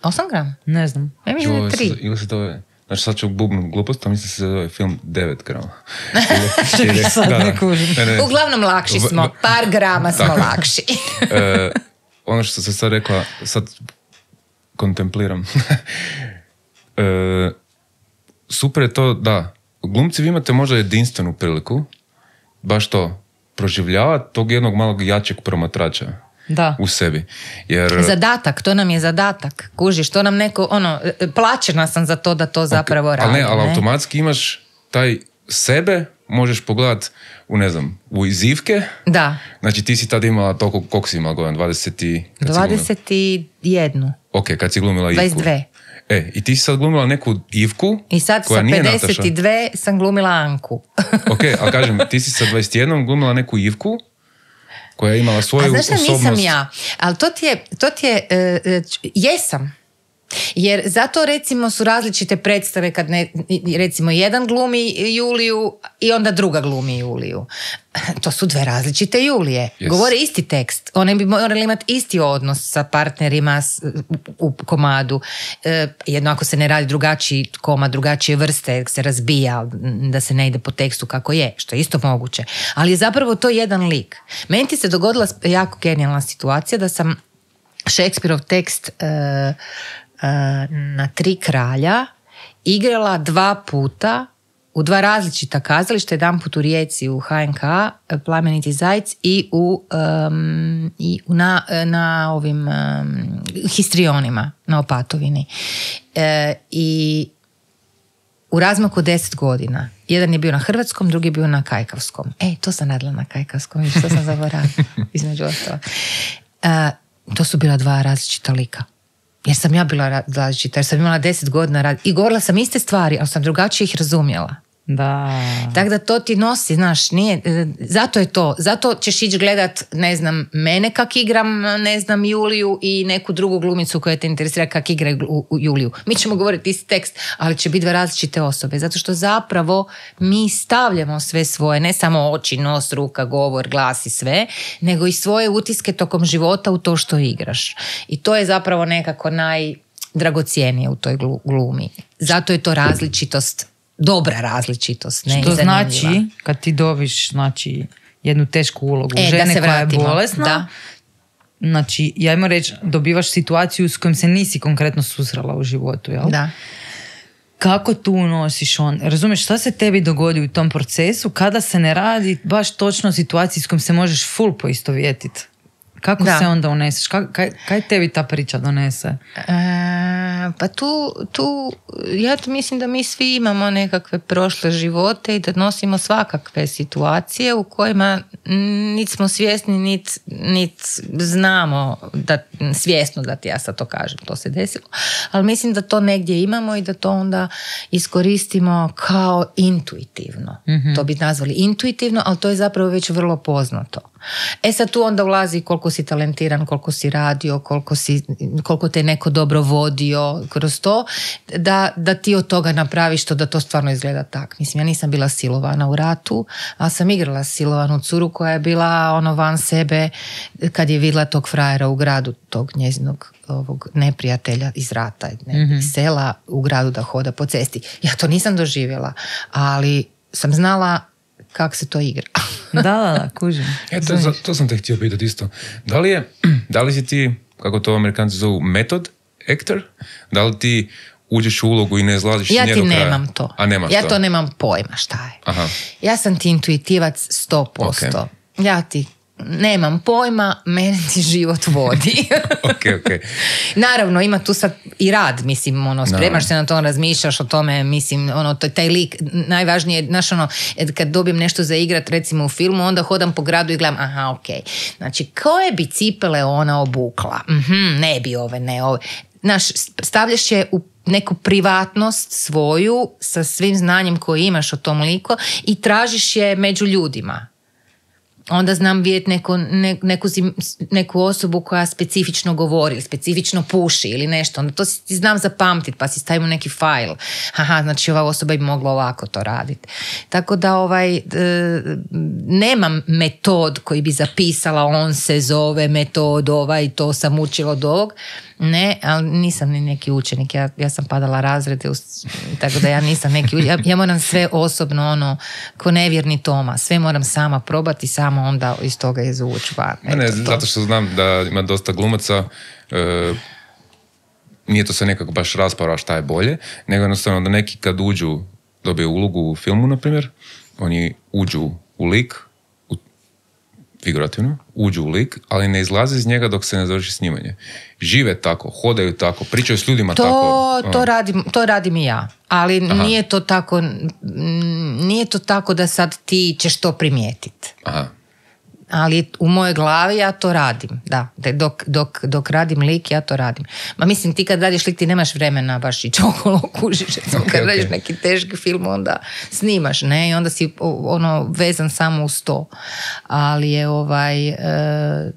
Osam grama? Ne znam. Ja mislim da Joj, je tri. se- Ili se to je... Znači sad ću bubnut glupost, a mislim se zove film devet grama. Čekaj, sad ne kužim. Ne, ne. Uglavnom lakši smo, par grama smo lakši. e, ono što se sad rekla, sad kontempliram. e, super je to, da, glumci vi imate možda jedinstvenu priliku, baš to, proživljavati tog jednog malog jačeg promatrača. Da. U sebi. Jer... Zadatak, to nam je zadatak. Kužiš, to nam neko, ono, plaćena sam za to da to zapravo okay, radim. Ali ne, ali ne? automatski imaš taj sebe, možeš pogledat u, ne znam, u izivke. Da. Znači ti si tad imala toliko, koliko si imala godina? dvadeset i... dvadeset jedan. Ok, kad si glumila Ivku. dvadeset dve. E, i ti si sad glumila neku Ivku i sad koja sa nije pedeset dve Nataša. sam glumila Anku. Ok, ali kažem, ti si sa dvadeset jedan glumila neku Ivku koja je imala svoju osobnost. A znaš šta, osobnost. nisam ja. Ali to ti je, to ti je uh, jesam. Jer zato recimo su različite predstave kad ne, recimo jedan glumi Juliju i onda druga glumi Juliju. To su dve različite Julije. Yes. Govore isti tekst. One bi morali imati isti odnos sa partnerima u, u komadu. E, jedno ako se ne radi drugačiji komad, drugačije vrste, se razbija, da se ne ide po tekstu kako je, što je isto moguće. Ali je zapravo to jedan lik. Meni ti se dogodila jako genijalna situacija da sam Šekspirov tekst e, e, na Tri kralja igrala dva puta u dva različita kazališta, jedan put u Rijeci u H N K, Plameniti zajec, i u, um, i na, na ovim um, histrionima na Opatovini. E, I u razmaku deset godina. Jedan je bio na hrvatskom, drugi je bio na kajkavskom. E, to sam radila na kajkavskom, što sam zaboravila, između ostalo. E, to su bila dva različita lika. Jer sam ja bila različita, jer sam imala deset godina rad i govorila sam iste stvari, ali sam drugačije ih razumjela. Da. Tako da to ti nosi, znaš, nije, zato je to, zato ćeš ići gledat, ne znam, mene kak igram, ne znam, Juliju i neku drugu glumicu koja te interesira kak igra u, u Juliju. Mi ćemo govoriti isti tekst, ali će biti dve različite osobe, zato što zapravo mi stavljamo sve svoje, ne samo oči, nos, ruka, govor, glas i sve, nego i svoje utiske tokom života u to što igraš. I to je zapravo nekako najdragocijenije u toj glumi. Zato je to različitost, dobra različitost. Ne, što znači, kad ti dobiš znači, jednu tešku ulogu e, žene koja je bolesna, da. Znači, ja imam reći, dobivaš situaciju s kojom se nisi konkretno susrela u životu, jel? Da. Kako tu nosiš on? Razumiješ, šta se tebi dogodi u tom procesu kada se ne radi baš točno o situaciji s kojom se možeš full poistovjetiti? Kako da. Se onda uneseš? Kaj, kaj tebi ta priča donese? E, pa tu, tu, ja mislim da mi svi imamo nekakve prošle živote i da nosimo svakakve situacije u kojima nit smo svjesni, nit, nit znamo da, svjesno da ti ja sad to kažem, to se desilo. Ali mislim da to negdje imamo i da to onda iskoristimo kao intuitivno. Mm-hmm. To bi nazvali intuitivno, ali to je zapravo već vrlo poznato. E sad tu onda ulazi koliko si talentiran, koliko si radio, koliko, si, koliko te neko dobro vodio kroz to, da, da ti od toga napraviš to da to stvarno izgleda tak. Mislim, ja nisam bila silovana u ratu, ali sam igrala silovanu curu koja je bila ono van sebe kad je vidjela tog frajera u gradu, tog njezinog ovog neprijatelja iz rata, ne, mm-hmm. iz sela u gradu da hoda po cesti. Ja to nisam doživjela, ali sam znala kako se to igra. Da, da, da, kužim. E, to, za, to sam te htio pitati isto. Da li je, da li si ti, kako to Amerikanci zovu, method actor? Da li ti uđeš u ulogu i ne izlaziš ja nje do kraja? Ja ti nemam to. A nemaš ja to? to nemam pojma šta je. Aha. Ja sam ti intuitivac sto posto. Okay. Ja ti nemam pojma, meni ti život vodi. okay, okay. Naravno, ima tu sad i rad, mislim, ono, spremaš no. se na to, razmišljaš o tome, mislim, ono, taj lik, najvažnije, znaš, ono, kad dobijem nešto za igrat, recimo u filmu, onda hodam po gradu i gledam, aha, ok, znači, koje bi cipele ona obukla? Mm-hmm, ne bi ove, ne ove. Znaš, stavljaš je u neku privatnost svoju, sa svim znanjem koje imaš o tom liku i tražiš je među ljudima. onda znam vidjeti neku, ne, neku, neku osobu koja specifično govori ili specifično puši ili nešto, onda to si znam zapamtiti pa si stavim u neki fajl. Aha, znači ova osoba bi mogla ovako to raditi. Tako da ovaj, e, nemam metod koji bi zapisala, on se zove metod ovaj, to sam učila od ovog. Ne, ali nisam ni neki učenik, ja, ja sam padala razrede, tako da ja nisam neki učenik. Ja, ja moram sve osobno, ono, ko nevjerni Toma, sve moram sama probati, samo onda iz toga izvući van. Ne, ne, zato što znam da ima dosta glumaca, e, nije to se nekako baš rasprava šta je bolje, nego jednostavno da neki kad uđu, dobiju ulogu u filmu, na primjer, oni uđu u lik, u, figurativno, uđu u lik, ali ne izlaze iz njega dok se ne završi snimanje. Žive tako, hodaju tako, pričaju s ljudima to, tako. To radim, to radim i ja, ali Aha. nije to tako, nije to tako da sad ti ćeš to primijetiti. Aha. Ali u mojoj glavi ja to radim, da, dok, dok, dok radim lik ja to radim. Ma mislim, ti kad radiš lik ti nemaš vremena baš ići okolo kužiš, okay, kad okay. radiš neki teški film onda snimaš, ne, i onda si ono vezan samo uz to. Ali je ovaj, e,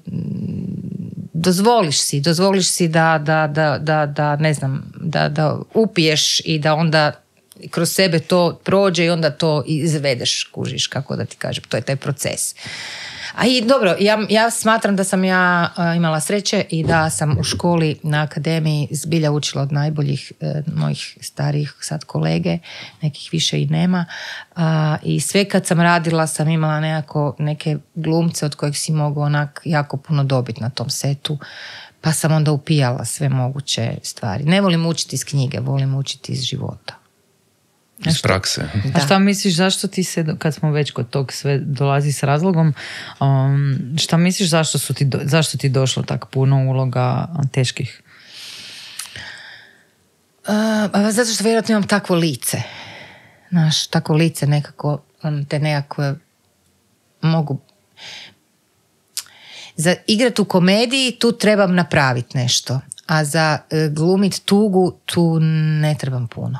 dozvoliš si, dozvoliš si da, da, da, da, da ne znam, da, da upiješ i da onda kroz sebe to prođe i onda to izvedeš, kužiš, kako da ti kažem, to je taj proces. A i dobro, ja, ja smatram da sam ja uh, imala sreće i da sam u školi na akademiji zbilja učila od najboljih uh, mojih starijih sad kolege, nekih više i nema. Uh, I sve kad sam radila sam imala nekako neke glumce od kojih si mogu onak jako puno dobiti na tom setu. Pa sam onda upijala sve moguće stvari. Ne volim učiti iz knjige, volim učiti iz života. Iz prakse. A šta misliš, zašto ti se, kad smo već kod tog sve dolazi s razlogom, um, šta misliš zašto, su ti, zašto ti došlo tako puno uloga teških? Uh, zato što vjerojatno imam takvo lice. Znaš, takvo lice nekako, te nekakve mogu... Za igrat u komediji tu trebam napraviti nešto, a za uh, glumit tugu tu ne trebam puno.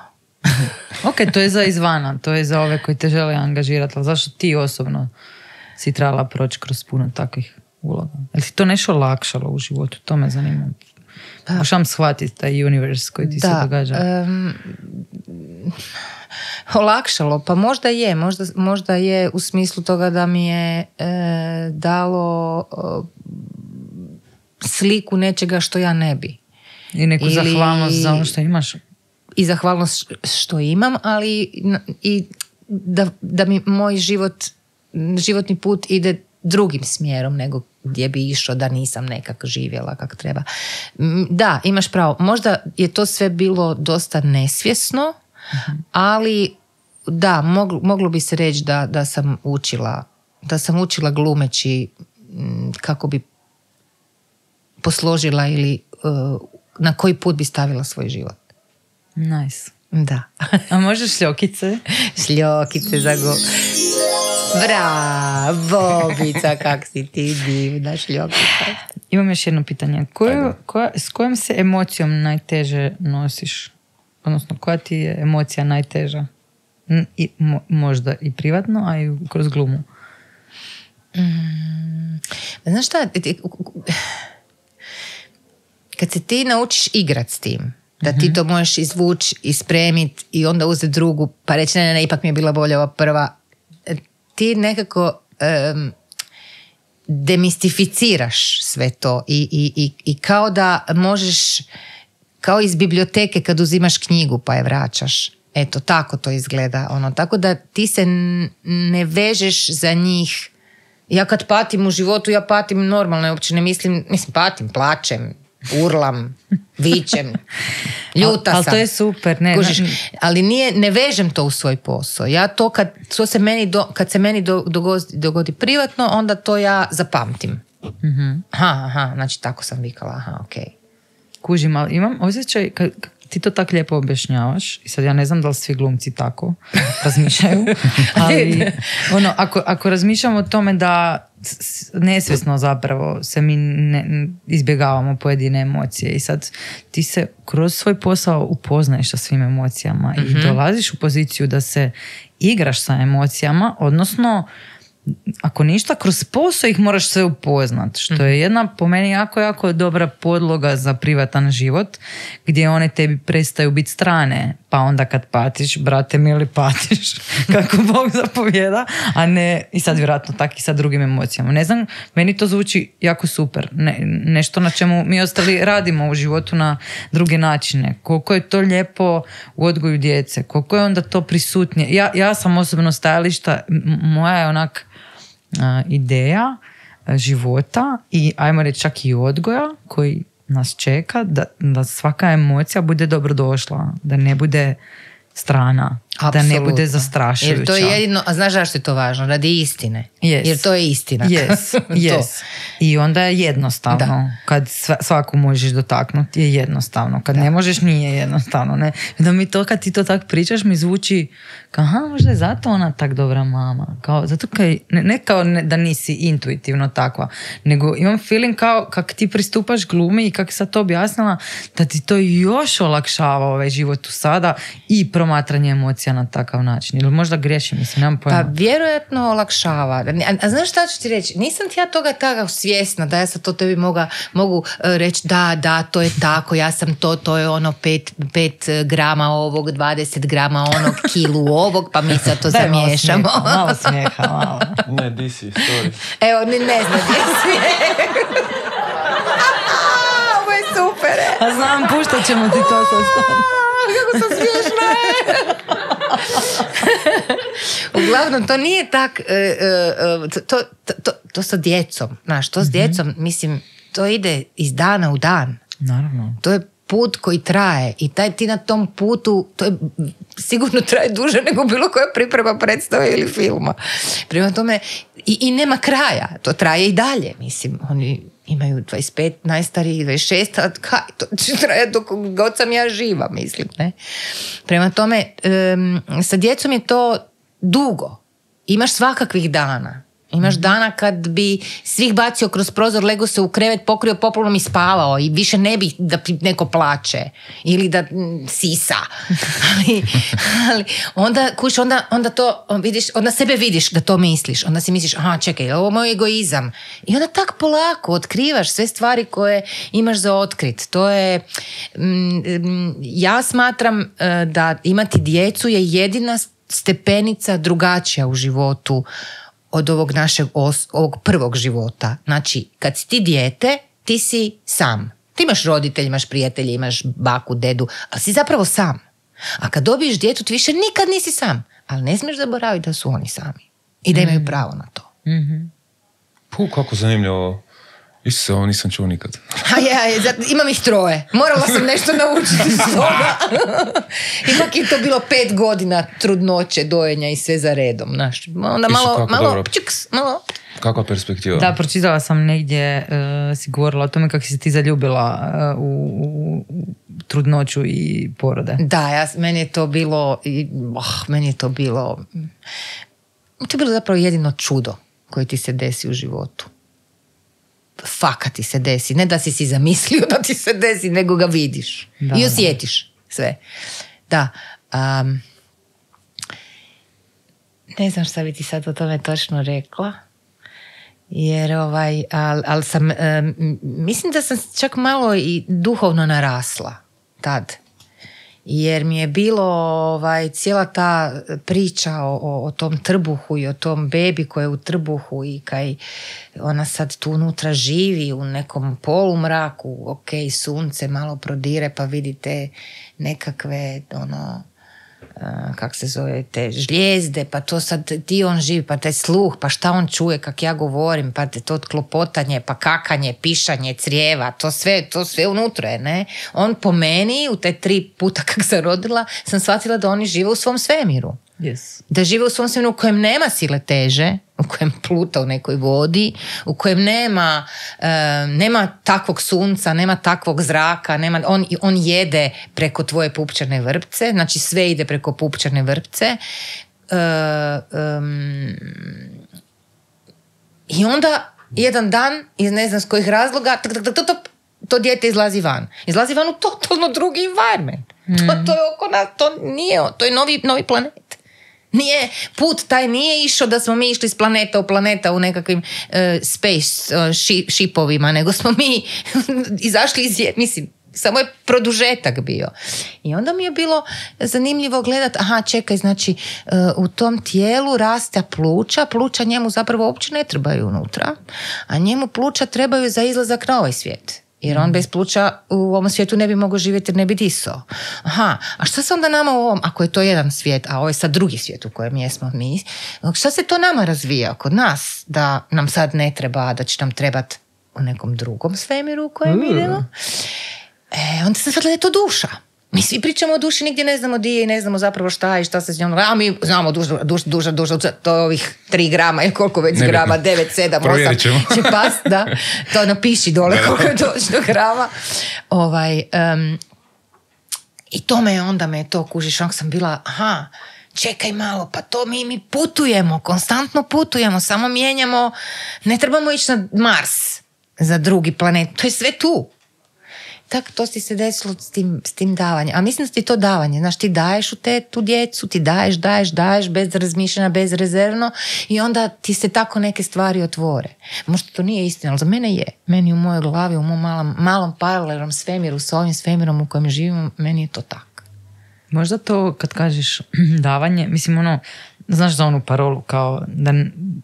Ok, to je za izvana, to je za ove koji te žele angažirati, ali zašto ti osobno si trebala proći kroz puno takvih uloga? Je li ti to nešto olakšalo u životu? To me zanima. Možem shvatiti taj univerz koji ti da, se događa. Um, olakšalo, pa možda je, možda, možda je u smislu toga da mi je e, dalo e, sliku nečega što ja ne bi. I neku Ili... zahvalnost za ono što imaš. I zahvalnost što imam, ali i da, da mi moj život, životni put ide drugim smjerom nego gdje bi išao da nisam nekako živjela kako treba. Da, imaš pravo. Možda je to sve bilo dosta nesvjesno, uh-huh. ali da, moglo, moglo bi se reći da, da sam učila, da sam učila glumeći kako bi posložila ili uh, na koji put bi stavila svoj život. Nice. Da. A možeš šljokice? Šljokice za go... Bravo, Bica, kak si ti divna šljokica. Imam još jedno pitanje. Koju, koja, s kojom se emocijom najteže nosiš? Odnosno, koja ti je emocija najteža? I, mo, možda i privatno, a i kroz glumu. Mm, znaš šta? Kad se ti naučiš igrat s tim, da ti to možeš izvući, ispremiti i onda uzeti drugu, pa reći ne, ne, ne, ipak mi je bila bolja ova prva. Ti nekako um, demistificiraš sve to i, i, i, i kao da možeš, kao iz biblioteke kad uzimaš knjigu pa je vraćaš. Eto, tako to izgleda. Ono. Tako da ti se ne vežeš za njih. Ja kad patim u životu, ja patim normalno, uopće ne mislim, mislim patim, plačem, urlam, vičem, ljuta al, al sam. To je super. Ne, Kužiš, ne, ali nije, ne vežem to u svoj posao. Ja to kad, to se meni do, kad se meni do, dogodi, dogodi privatno, onda to ja zapamtim. Mm-hmm. Aha, aha, znači tako sam vikala, aha, okej. Okay. Kužim, ali imam osjećaj, kad ti to tako lijepo objašnjavaš, i sad ja ne znam da li svi glumci tako razmišljaju, ali ono, ako, ako razmišljamo o tome da nesvjesno zapravo se mi ne, izbjegavamo pojedine emocije i sad ti se kroz svoj posao upoznaješ sa svim emocijama mm-hmm. i dolaziš u poziciju da se igraš sa emocijama, odnosno ako ništa, kroz posao ih moraš sve upoznat, što je jedna po meni jako, jako dobra podloga za privatan život, gdje one tebi prestaju biti strane, pa onda kad patiš, brate mili, patiš, kako Bog zapovjeda, a ne, i sad vjerojatno tak i sa drugim emocijama. Ne znam, meni to zvuči jako super. Ne, nešto na čemu mi ostali radimo u životu na druge načine. Koliko je to lijepo u odgoju djece, koliko je onda to prisutnije. Ja, ja sam osobno stajališta, moja je onak a, ideja a, života i ajmo reći čak i odgoja koji nas čeka, da, da svaka emocija bude dobrodošla, da ne bude strana, Apsolutno. Da ne bude zastrašujuća. Jer to je jedino, a znaš zašto je to važno? Radi istine. Yes. Jer to je istina. Yes. Yes. I onda je jednostavno. Da. Kad svaku možeš dotaknuti je jednostavno. Kad da. Ne možeš nije jednostavno. Ne? Da mi to, kad ti to tak pričaš, mi zvuči kao, aha, možda je zato ona tak dobra mama. Kao, zato kaj, ne, ne kao ne, da nisi intuitivno takva, nego imam feeling kao kak ti pristupaš glumi i kak sam to objasnila, da ti to još olakšava ovaj život u sada i promatranje emocija na takav način. Ili možda griješim, mislim, nemam pojma. Pa vjerojatno olakšava. A, a znaš šta ću ti reći? Nisam ti ja toga tako svjesna da ja sad to tebi moga, mogu uh, reći da, da, to je tako, ja sam to, to je ono pet, pet grama ovog, dvadeset grama onog, kilu ovog, pa mi sad to Daj, zamiješamo. Malo smijeha, malo smijeha, malo. Ne, di si, sorry. Evo, ne, ne znam gdje smijeh. Ovo je super. A znam, puštat ćemo ti to sa strane. Kako sam smiješna. Uglavnom, to nije tak, uh, uh, to, to, to, to sa djecom, znaš, to s djecom, mm-hmm. mislim, to ide iz dana u dan. Naravno. To je put koji traje i taj ti na tom putu, to je sigurno traje duže nego bilo koja priprema predstave ili filma. Prema tome, i, i nema kraja, to traje i dalje, mislim, oni imaju dvadeset pet, najstariji dvadeset šest, a kaj, to će traje dok god sam ja živa, mislim, ne? Prema tome, um, sa djecom je to dugo. Imaš svakakvih dana. Imaš dana kad bi svih bacio kroz prozor, lego se u krevet, pokrio poplom i spavao i više ne bi da neko plače ili da m, sisa. ali, ali onda, kuš, onda, onda to vidiš, onda sebe vidiš da to misliš. Onda si misliš, aha, čekaj, ovo je moj egoizam. I onda tak polako otkrivaš sve stvari koje imaš za otkrit. To je, m, m, ja smatram uh, da imati djecu je jedina stepenica drugačija u životu od ovog našeg os, ovog prvog života. Znači, kad si ti dijete, ti si sam. Ti imaš roditelj, imaš prijatelje, imaš baku, dedu, ali si zapravo sam. A kad dobiješ djetu, ti više nikad nisi sam. Ali ne smiješ zaboraviti da su oni sami. I da imaju pravo na to. Mm-hmm. Puh, kako zanimljivo. Isuse, ovo nisam čuo nikad. A ja, imam ih troje. Morala sam nešto naučiti iz toga. Ipak je to bilo pet godina trudnoće, dojenja i sve za redom. Znaš. Onda malo, malo, čuks, malo. Kakva perspektiva? Da, pročitala sam negdje, uh, si govorila o tome kako si ti zaljubila uh, u, u, u trudnoću i porode. Da, ja, meni je to bilo, oh, meni je to bilo, to je bilo zapravo jedino čudo koje ti se desi u životu. Faka ti se desi. Ne da si si zamislio da ti se desi, nego ga vidiš. Da, i osjetiš da. Sve. Da. Um, ne znam šta bi ti sad o tome točno rekla. Jer ovaj, ali al sam, um, mislim da sam čak malo i duhovno narasla tad. Jer mi je bilo ovaj, cijela ta priča o, o, o tom trbuhu i o tom bebi koja je u trbuhu i kaj ona sad tu unutra živi u nekom polumraku, ok, sunce malo prodire pa vidite nekakve ono, uh, kak se zove, te žlijezde, pa to sad ti on živi, pa taj sluh, pa šta on čuje kak ja govorim, pa te to klopotanje, pa kakanje, pišanje, crijeva, to sve, to sve unutra je, ne? On po meni, u te tri puta kak sam rodila, sam shvatila da oni žive u svom svemiru. Yes. Da žive u svom svemiru u kojem nema sile teže, u kojem pluta u nekoj vodi, u kojem nema, uh, nema takvog sunca, nema takvog zraka, nema, on, on jede preko tvoje pupčane vrpce, znači sve ide preko pupčane vrpce. Uh, um, I onda jedan dan, iz ne znam s kojih razloga, tak, tak, tak, tak, tak, to dijete izlazi van. Izlazi van u totalno drugi environment. Mm. To, to je oko nas, to nije, to je novi, novi planet. Nije, put taj nije išao da smo mi išli s planeta u planeta u nekakvim uh, space uh, ši, šipovima, nego smo mi izašli iz, mislim, samo je produžetak bio. I onda mi je bilo zanimljivo gledati, aha, čekaj, znači uh, u tom tijelu raste pluća, pluća njemu zapravo uopće ne trebaju unutra, a njemu pluća trebaju za izlazak na ovaj svijet. Jer on bez pluća u ovom svijetu ne bi mogao živjeti jer ne bi disao. Aha, a šta se onda nama u ovom, ako je to jedan svijet, a ovo je sad drugi svijet u kojem jesmo mi, šta se to nama razvija kod nas, da nam sad ne treba, da će nam trebati u nekom drugom svemiru u kojem mm. idemo? E, onda sam shvatila da je to duša. Mi svi pričamo o duši, nigdje ne znamo di je i ne znamo zapravo šta je i šta se s njom... A mi znamo duša, duša, duša, duša, to je ovih tri grama ili koliko već ne grama, devet, sedam, osam, će past, da. To napiši dole koliko je točno grama. Ovaj, um, I to me onda me to kužiš, onda sam bila, aha, čekaj malo, pa to mi, mi putujemo, konstantno putujemo, samo mijenjamo, ne trebamo ići na Mars za drugi planet, to je sve tu. Tako, to ti se desilo s tim, s tim davanjem. A mislim da ti to davanje, znaš, ti daješ u te, tu djecu, ti daješ, daješ, daješ, bez razmišljanja, bezrezervno i onda ti se tako neke stvari otvore. Možda to nije istina, ali za mene je. Meni u mojoj glavi, u mom malom, malom paralelnom svemiru, s ovim svemirom u kojem živimo, meni je to tako. Možda to kad kažeš davanje, mislim ono, znaš za onu parolu kao da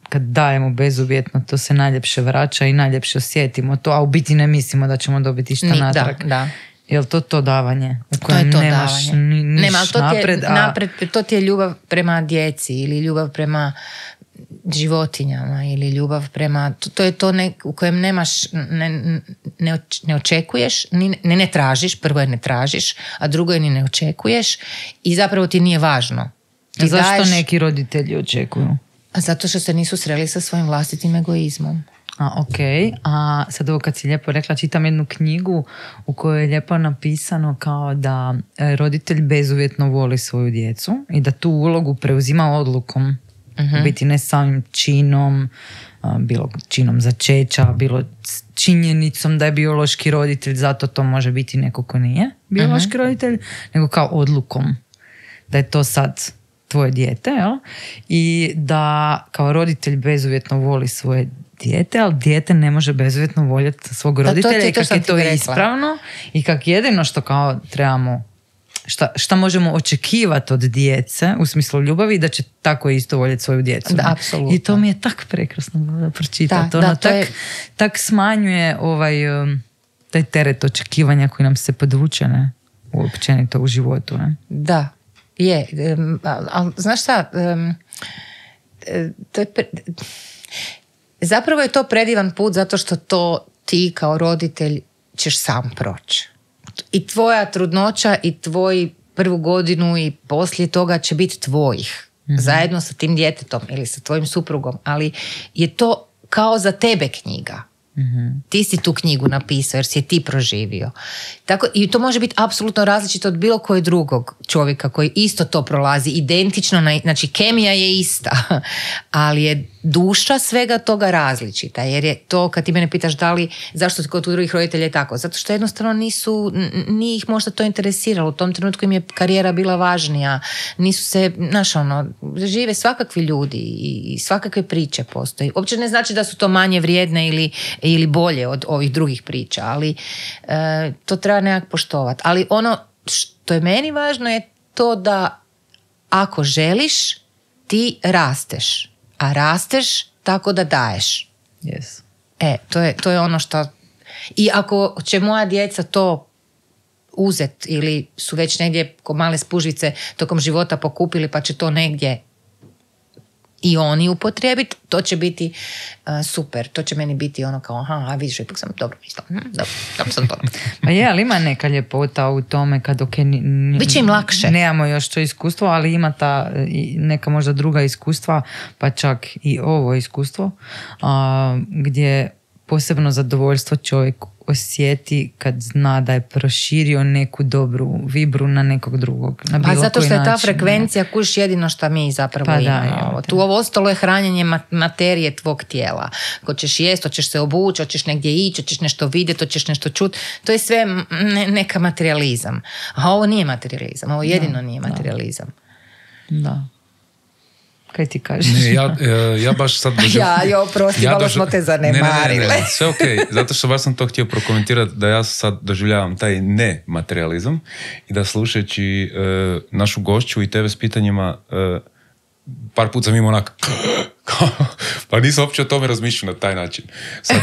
kad dajemo bezuvjetno to se najljepše vraća i najljepše osjetimo to, a u biti ne mislimo da ćemo dobiti šta natrag. Da, da. Jel to to davanje u kojem to je to nemaš davanje. ni, niš Nema, to napred, ti je, a... napred? To ti je ljubav prema djeci ili ljubav prema životinjama ili ljubav prema... To, to je to ne, u kojem nemaš, ne, ne, ne očekuješ, ni, ne, ne tražiš, prvo je ne tražiš, a drugo je ni ne očekuješ i zapravo ti nije važno. Ti Zašto daješ, neki roditelji očekuju? Zato što se nisu sreli sa svojim vlastitim egoizmom. A, ok, a sad ovo kad si lijepo rekla, čitam jednu knjigu u kojoj je lijepo napisano kao da roditelj bezuvjetno voli svoju djecu i da tu ulogu preuzima odlukom. Uh-huh. Biti ne samim činom, bilo činom začeća, bilo činjenicom da je biološki roditelj, zato to može biti neko ko nije biološki uh-huh. roditelj, nego kao odlukom da je to sad tvoje dijete, jel? I da kao roditelj bezuvjetno voli svoje dijete, ali dijete ne može bezuvjetno voljeti svog roditelja to, to, i kako je to ispravno i kako jedino što kao trebamo Šta, šta možemo očekivati od djece u smislu ljubavi da će tako isto voljeti svoju djecu. Da, apsolutno. I to mi je tak prekrasno da pročitati. Da, ono, da, to tak, je... tak smanjuje ovaj, um, taj teret očekivanja koji nam se podvuče ne? Uopćenito u životu. Ne? Da, je. Um, ali, ali znaš šta, um, to je pre... zapravo je to predivan put zato što to ti kao roditelj ćeš sam proći. I tvoja trudnoća i tvoj prvu godinu i poslije toga će biti tvojih. Mm-hmm. Zajedno sa tim djetetom ili sa tvojim suprugom. Ali je to kao za tebe knjiga. Mm-hmm. Ti si tu knjigu napisao jer si je ti proživio. Tako, i to može biti apsolutno različito od bilo kojeg drugog čovjeka koji isto to prolazi. Identično, na, znači kemija je ista. Ali je duša svega toga različita. Jer je to, kad ti mene pitaš da li, zašto kod drugih roditelja je tako? Zato što jednostavno nisu, nije ih možda to interesiralo. U tom trenutku im je karijera bila važnija. Nisu se, znaš ono, žive svakakvi ljudi i svakakve priče postoji. Uopće ne znači da su to manje vrijedne ili, ili bolje od ovih drugih priča, ali e, to treba nekak poštovati. Ali ono što je meni važno je to da ako želiš, ti rasteš. A rasteš tako da daješ. Yes. E, to je, to je ono što... I ako će moja djeca to uzet ili su već negdje ko male spužvice tokom života pokupili pa će to negdje i oni upotrijebiti, to će biti uh, super. To će meni biti ono kao, aha, a vidiš, ipak sam dobro mislila. Hm, dobro, dobro sam to. Pa je, ali ima neka ljepota u tome kad ok, n- n- biće im lakše. Nemamo još to iskustvo, ali ima ta neka možda druga iskustva, pa čak i ovo iskustvo, a, gdje posebno zadovoljstvo čovjek osjeti kad zna da je proširio neku dobru vibru na nekog drugog. Na bilo pa zato što je ta način, frekvencija kuš jedino što mi zapravo pa imamo. Da, tu ovo ostalo je hranjenje materije tvog tijela. Hoćeš jest, hoćeš se obući, hoćeš negdje ići, hoćeš nešto vidjeti, hoćeš nešto čuti. To je sve ne, neka materializam. A ovo nije materializam. Ovo jedino da, nije materializam. Da. Kaj ti kažeš? Ne, ja, ja baš sad... Doživ... Ja, jo, prosti, ja malo doživ... smo te zanemarili. Ne, ne, ne, ne, sve okej, okay. Zato što baš sam to htio prokomentirati da ja sad doživljavam taj ne-materializam i da slušajući uh, našu gošću i tebe s pitanjima uh, par put sam imao onak pa nisam uopće o tome razmišljao na taj način. Sad,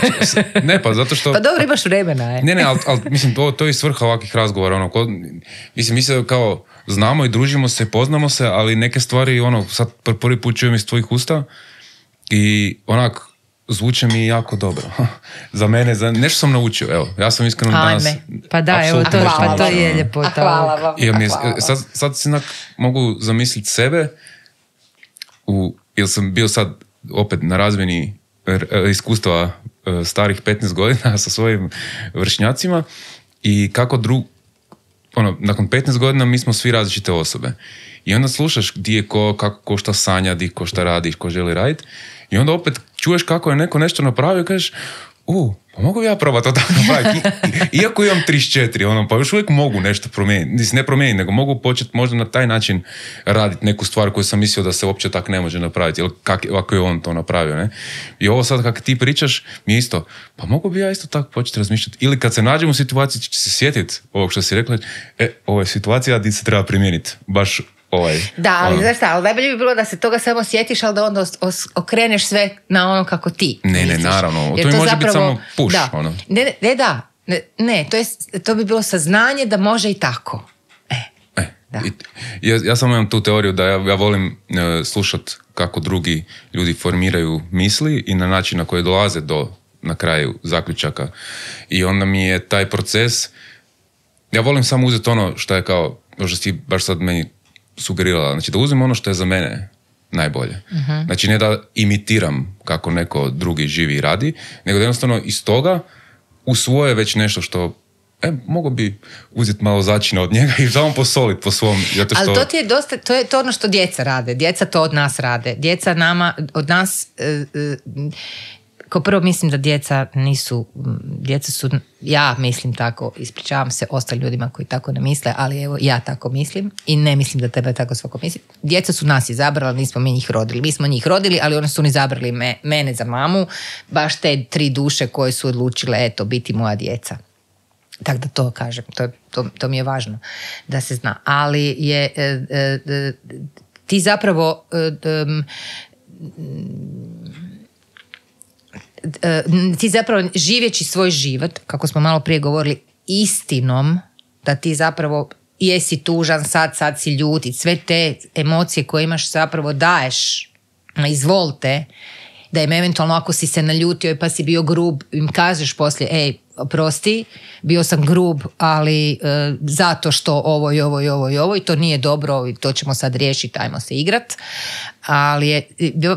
ne, pa zato što... Pa dobro, imaš vremena, je. Ne, ne, ali, ali mislim, to, to je svrha ovakvih razgovora. Ono, ko, mislim, mi se kao znamo i družimo se, poznamo se, ali neke stvari, ono, sad prvi put čujem iz tvojih usta i onak, zvuče mi jako dobro. Za mene, za nešto sam naučio, evo, ja sam iskreno danas... Pa da, evo, to, pa to je ljepota. Hvala vam. Ja mi, sad, sad si nak, mogu zamisliti sebe, u, jer sam bio sad opet na razmjeni iskustva starih petnaest godina sa svojim vršnjacima i kako drug, ono, nakon petnaest godina mi smo svi različite osobe. I onda slušaš gdje je ko, kako, ko šta sanja, di ko šta radi, ko želi raditi. I onda opet čuješ kako je neko nešto napravio i kažeš, u, pa mogu ja probati to tako napraviti. Iako imam trideset četiri, ono, pa još uvijek mogu nešto promijeniti. Ne promijeniti, nego mogu početi možda na taj način raditi neku stvar koju sam mislio da se uopće tako ne može napraviti. Ili kak, kako je on to napravio, ne? I ovo sad kako ti pričaš, mi je isto, pa mogu bi ja isto tako početi razmišljati. Ili kad se nađem u situaciji, će se sjetiti ovog što si rekla, e, ovo je situacija gdje se treba primijeniti. Baš ovaj. Da, ali ono. znaš šta, ali najbolje bi bilo da se toga samo sjetiš, ali da onda os, os, okreneš sve na ono kako ti Ne, misliš. ne, naravno. Jer to mi može zapravo, biti samo push. Da. Ono. Ne, ne, ne, da. Ne, ne to, je, to bi bilo saznanje da može i tako. E, E, da. i, ja, ja samo imam tu teoriju da ja, ja volim uh, slušati kako drugi ljudi formiraju misli i na način na koji dolaze do na kraju zaključaka. I onda mi je taj proces, ja volim samo uzeti ono što je kao, što si baš sad meni sugerirala, znači da uzmem ono što je za mene najbolje. Uh-huh. Znači ne da imitiram kako neko drugi živi i radi, nego da jednostavno iz toga usvoje već nešto što e, mogu bi uzeti malo začina od njega i samo posoliti po svom. Zato što... Ali to ti je dosta, to je to ono što djeca rade. Djeca to od nas rade. Djeca nama, od nas, e, e, kao prvo mislim da djeca nisu, djeca su, ja mislim tako, ispričavam se ostalim ljudima koji tako ne misle, ali evo ja tako mislim i ne mislim da treba tako svako misliti. Djeca su nas izabrala, nismo mi njih rodili. Mi smo njih rodili, ali oni su oni izabrali me, mene za mamu, baš te tri duše koje su odlučile, eto, biti moja djeca. Tako da to kažem, to, to, to mi je važno da se zna. Ali je, e, e, ti zapravo... E, e, ti zapravo živjeći svoj život, kako smo malo prije govorili, istinom, da ti zapravo jesi tužan, sad, sad si ljuti, sve te emocije koje imaš zapravo daješ, izvolite, da im eventualno ako si se naljutio pa si bio grub, im kažeš poslije, ej, oprosti, bio sam grub, ali e, zato što ovo i ovo i ovo i ovo i to nije dobro i to ćemo sad riješiti, ajmo se igrat. Ali je,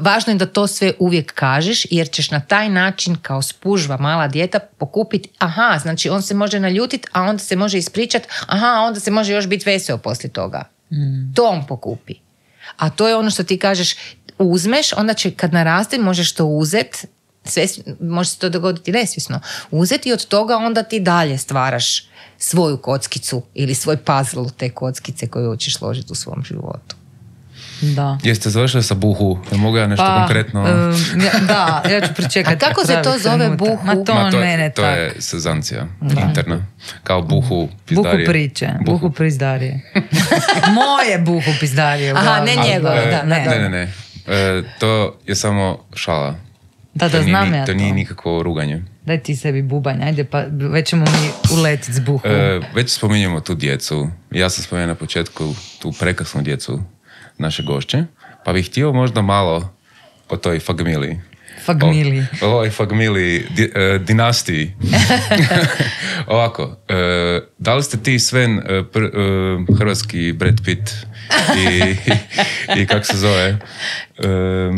važno je da to sve uvijek kažeš jer ćeš na taj način kao spužva mala dijeta pokupiti, aha, znači on se može naljutiti, a onda se može ispričati, aha, onda se može još biti veseo poslije toga. Mm. To on pokupi. A to je ono što ti kažeš, uzmeš, onda će kad naraste možeš to uzeti, može se to dogoditi nesvjesno, uzeti i od toga onda ti dalje stvaraš svoju kockicu ili svoj puzzle te kockice koju hoćeš složiti u svom životu. Da. Jeste završili sa buhu? Jel mogu ja nešto pa, konkretno? Um, ja, da, ja ću pričekati. A kako se to zove trenutak. buhu? Ma to, Ma to, mene to tak. je sezancija interna. Kao buhu pizdarije. Buhu priče, buhu, buhu pizdarije. Moje buhu pizdarije. Aha, ne njegove, e, da. Ne, ne, ne. ne. E, to je samo šala. Da, da, to znam nije, ja to. To nije nikakvo ruganje. Daj ti sebi bubanj, ajde, pa već ćemo mi uletiti s buhu. E, već spominjemo tu djecu. Ja sam spomenuo na početku tu prekrasnu djecu naše gošće, pa bih htio možda malo o toj fagmiliji. Fagmiliji. O, o ovoj fagmiliji, di, e, dinastiji. Ovako, e, da li ste ti Sven e, pr, e, hrvatski Brad Pitt i, i, i kako se zove? E,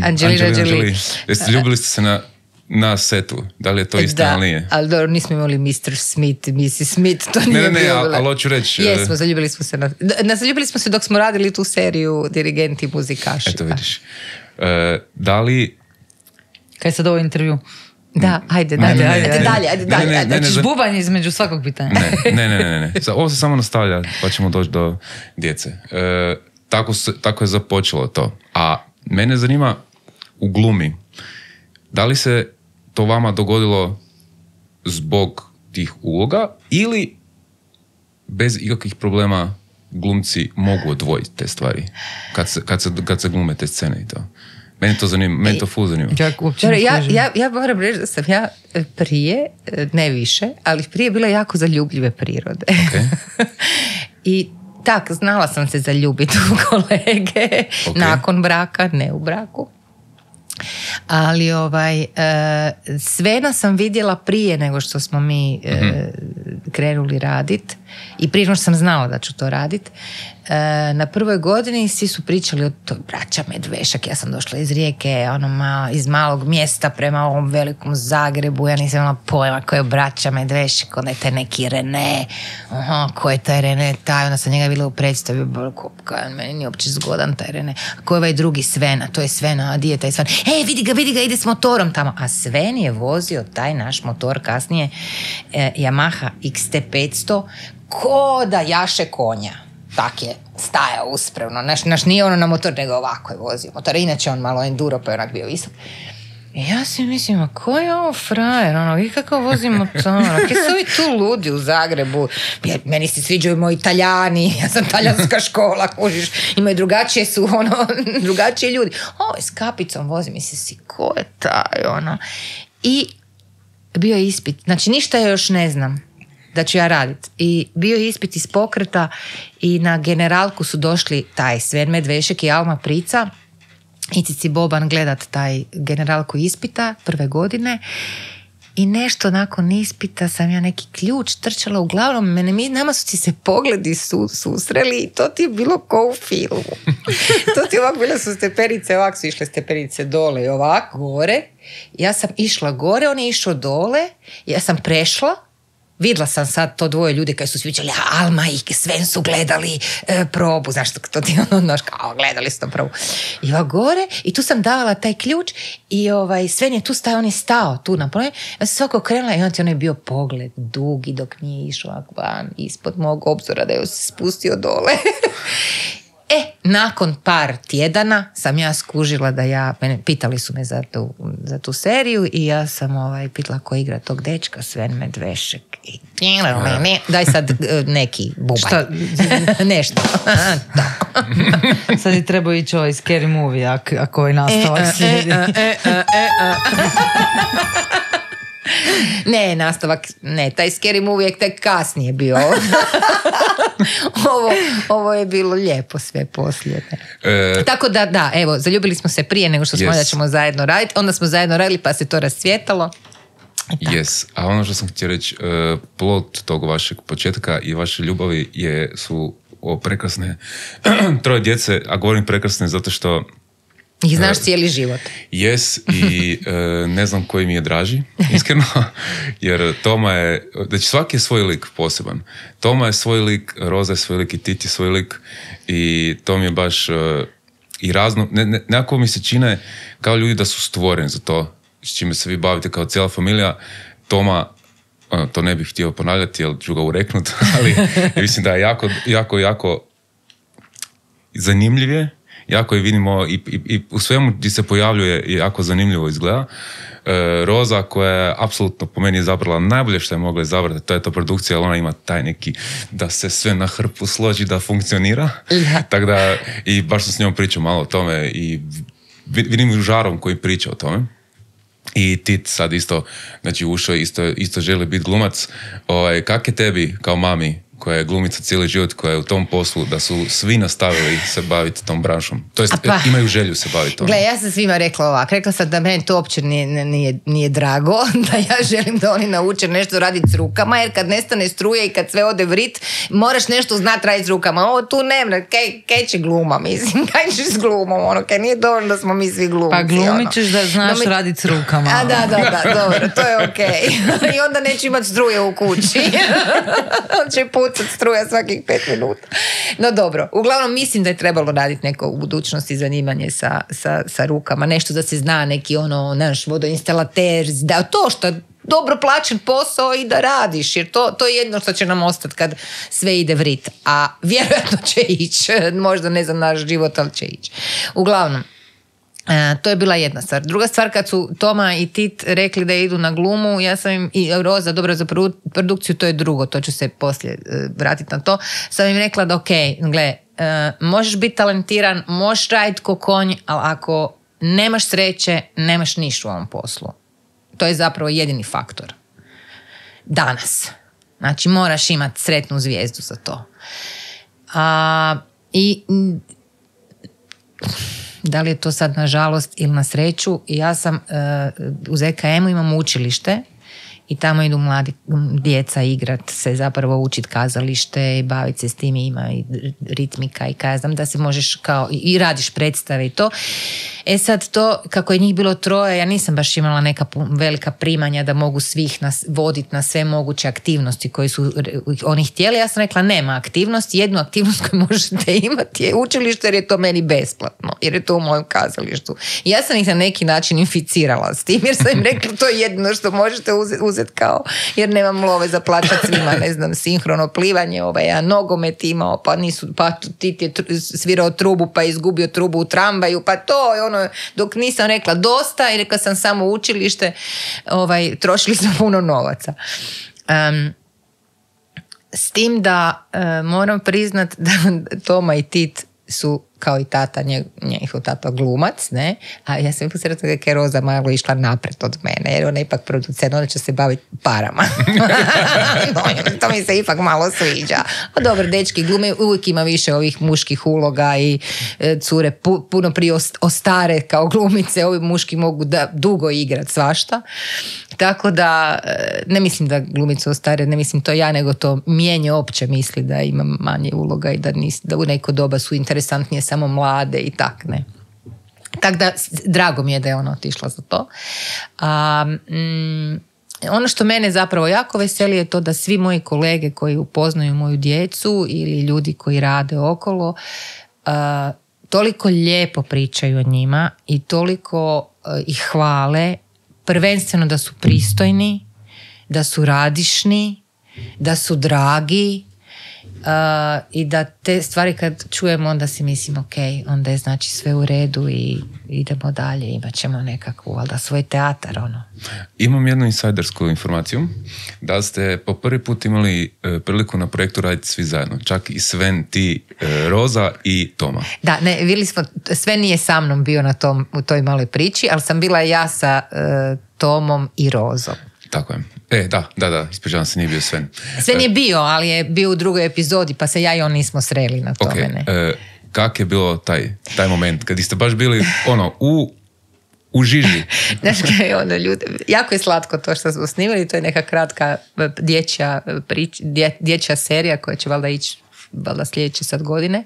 Angelina Jolie. Jeste ljubili ste se na na setu, da li je to istina da, ili nije? Ali dobro, nismo imali mister Smith, missis Smith, to nije ne, ne, bilo. Ne, ne, ali hoću reći... Jesmo, zaljubili smo se na... na zaljubili smo se dok smo radili tu seriju Dirigenti i muzikaši. Eto vidiš. E, da li... Kaj sad ovo intervju? Da, ajde, ne, ajde, ne, ajde, ne, ajde, dalje, ajde, dalje. Ne, ne, Hoćeš bubanj između svakog pitanja? Ne, ne, ne, ne, ne. Ovo se samo nastavlja, pa ćemo doći do djece. E, tako, se, tako je započelo to. A mene zanima u glumi, da li se to vama dogodilo zbog tih uloga ili bez ikakvih problema glumci mogu odvojiti te stvari kad se, kad se, kad se glume te scene i to. Meni to zanima, meni to ful zanima. Ja, ja, ja, ja moram reći da sam ja prije, ne više, ali prije bila jako zaljubljive prirode. Okay. I tak, znala sam se zaljubiti u kolege okay. nakon braka, ne u braku. Ali ovaj, Svena sam vidjela prije nego što smo mi mm-hmm. krenuli raditi i prije nego što sam znala da ću to raditi. Na prvoj godini svi su pričali o toj braća Medvešak. Ja sam došla iz Rijeke, ono ma, iz malog mjesta prema ovom velikom Zagrebu. Ja nisam imala pojma ko je braća Medvešak, onda je taj neki Rene. Aha, ko je taj Rene? Taj, onda sam njega bila u predstavi. Meni nije uopće zgodan taj Rene. A ko je ovaj drugi Svena? To je Svena, a di je taj Sven? E, vidi ga, vidi ga, ide s motorom tamo. A Sven je vozio taj naš motor kasnije, eh, Yamaha X T petsto, ko da jaše konja. Tak je stajao uspravno. Naš, naš nije ono na motor, nego ovako je vozio motor. Inače on malo enduro, pa je onak bio visok. I ja si mislim, a ko je ovo frajer? Ono, i kako vozi motor? Kaj su ovi tu ludi u Zagrebu? Ja, meni se sviđaju moji Italijani. Ja sam talijanska škola, kužiš. Imaju drugačije su, ono, drugačije ljudi. Ovo je s kapicom vozi. Mislim si, ko je taj, ono? I bio je ispit. Znači, ništa ja još ne znam da ću ja raditi. I bio je ispit iz pokreta i na generalku su došli taj Sven Medvešek i Alma Prica i Cici Boban gledat taj generalku ispita prve godine i nešto nakon ispita sam ja neki ključ trčala uglavnom, mene, mi, nama su ti se pogledi su, susreli i to ti je bilo ko u filmu. To ti ovako bile su stepenice, ovako su išle stepenice dole i ovako gore. Ja sam išla gore, on je išao dole, ja sam prešla. Vidjela sam sad to dvoje ljudi koji su sviđali, Alma i Sven su gledali e, probu, znaš, to ti ono, znaš, kao gledali su to probu. I ovako gore, i tu sam davala taj ključ i ovaj, Sven je tu stajao, on je stao tu na probu, ja sam svako krenula i on ti ono je bio pogled dugi dok nije išao ovako van, ispod mog obzora da je se spustio dole. E, nakon par tjedana sam ja skužila da ja, mene, pitali su me za tu, za tu seriju i ja sam ovaj, pitala ko igra tog dečka, Sven Medvešek. I, daj sad neki bubanj. Šta? Nešto. Sad je trebao ići ovaj scary movie, ako, ako ovaj nastavak slijedi. E, e, e, e, e. Ne, nastavak, ne, taj scary movie je tek kasnije bio. ovo, ovo je bilo lijepo sve poslije. E, Tako da, da, evo, zaljubili smo se prije nego što smo yes. da ćemo zajedno raditi, onda smo zajedno radili pa se to rascvjetalo. Yes, a ono što sam htio reći, uh, plod tog vašeg početka i vaše ljubavi je, su o, prekrasne troje djece, a govorim prekrasne zato što ih znaš uh, cijeli život. Yes, i uh, ne znam koji mi je draži, iskreno, jer Toma je, znači svaki je svoj lik poseban. Toma je svoj lik, Roza je svoj lik i Titi je svoj lik i to mi je baš uh, i razno, ne, ne, nekako mi se čine kao ljudi da su stvoreni za to, s čime se vi bavite kao cijela familija. Toma, ono, to ne bih htio ponavljati, jer ću ga ureknuti, ali mislim da je jako, jako, jako zanimljiv je, jako je vidimo i, i, i u svemu gdje se pojavljuje i jako zanimljivo izgleda. E, Roza koja je apsolutno po meni izabrala najbolje što je mogla izabrati, to je to produkcija, ali ona ima taj neki da se sve na hrpu složi, da funkcionira. Tako da, i baš sam s njom pričao malo o tome i vidim žarom koji priča o tome. I Tit sad isto, znači ušao isto, isto želi biti glumac. Ovaj, kak je tebi kao mami koja je glumica cijeli život, koja je u tom poslu, da su svi nastavili se baviti tom branšom? To jest, pa, imaju želju se baviti tom. Gle, ja sam svima rekla ovako. Rekla sam da meni to uopće nije, nije, nije drago, da ja želim da oni nauče nešto raditi s rukama, jer kad nestane struje i kad sve ode vrit, moraš nešto znati raditi s rukama. Ovo tu nema, kaj, kaj će gluma, mislim, kaj ćeš s glumom, ono, kaj nije dovoljno da smo mi svi glumci. Pa glumit ćeš da znaš no, mi... raditi s rukama. A da, da, da, dobro, to je okej. Okay. I onda neću imati struje u kući. On će pucat struja svakih pet minuta. No dobro, uglavnom mislim da je trebalo raditi neko u budućnosti zanimanje sa, sa, sa rukama, nešto da se zna, neki ono, naš vodoinstalater, da to što dobro plaćen posao i da radiš, jer to, to je jedno što će nam ostati kad sve ide vrit, a vjerojatno će ići, možda ne za naš život, ali će ići. Uglavnom, E, to je bila jedna stvar. Druga stvar, kad su Toma i Tit rekli da idu na glumu, ja sam im, i Roza, dobro za produkciju, to je drugo, to ću se poslije e, vratiti na to, sam im rekla da ok, gle, e, možeš biti talentiran, možeš raditi ko konj, ali ako nemaš sreće, nemaš ništa u ovom poslu. To je zapravo jedini faktor. Danas. Znači, moraš imati sretnu zvijezdu za to. A, i da li je to sad na žalost ili na sreću, ja sam uh, u Z K M-u imam učilište i tamo idu mladi djeca igrat se, zapravo učit kazalište i baviti se s tim, ima i ritmika i kazam da se možeš kao i radiš predstave i to. E sad to, kako je njih bilo troje, ja nisam baš imala neka velika primanja da mogu svih nas voditi na sve moguće aktivnosti koje su oni htjeli. Ja sam rekla, nema aktivnosti, jednu aktivnost koju možete imati je učilište, jer je to meni besplatno, jer je to u mojem kazalištu. I ja sam ih na neki način inficirala s tim, jer sam im rekla, to je jedino što možete uzeti uzet kao, jer nemam love za plaćati svima, ne znam, sinhrono plivanje, ovaj, ja nogomet imao, pa nisu, pa Tit je svirao trubu, pa izgubio trubu u tramvaju, pa to je ono, dok nisam rekla dosta i rekla sam samo učilište, ovaj, trošili smo puno novaca. Um, s tim da uh, moram priznat da Toma i Tit su kao i tata, njihov tata glumac, ne? A ja sam posredno kako je Roza malo išla napred od mene, jer ona je ipak producent, ona će se baviti parama. No, to mi se ipak malo sviđa. A dobro, dečki glume, uvijek ima više ovih muških uloga i e, cure pu, puno prije ostare kao glumice, ovi muški mogu da dugo igrat svašta. Tako da, ne mislim da glumice ostare, ne mislim to ja, nego to mijenje opće misli da ima manje uloga i da, nis, da u neko doba su interesantnije samo mlade i tak, ne. Tako da, drago mi je da je ona otišla za to. A, mm, ono što mene zapravo jako veseli je to da svi moji kolege koji upoznaju moju djecu ili ljudi koji rade okolo, a, toliko lijepo pričaju o njima i toliko a, ih hvale, prvenstveno da su pristojni, da su radišni, da su dragi, uh, i da te stvari kad čujemo onda si mislim ok, onda je znači sve u redu i idemo dalje, imat ćemo nekakvu, ali da svoj teatar ono. Imam jednu insajdersku informaciju da ste po prvi put imali e, priliku na projektu raditi svi zajedno, čak i Sven, ti, e, Roza i Toma. Da, ne, bili smo, Sven nije sa mnom bio na tom, u toj maloj priči, ali sam bila ja sa e, Tomom i Rozom. Tako je. E, da, da, da, ispričavam se, nije bio Sven. Sven je bio, ali je bio u drugoj epizodi, pa se ja i on nismo sreli na tome. Okay. E, kak je bilo taj, taj moment, kad ste baš bili ono, u, u žiži? Znaš kaj, ono, ljudi, jako je slatko to što smo snimili, to je neka kratka dječja, prič, dje, dječja serija koja će valjda ići valjda sljedeće sad godine.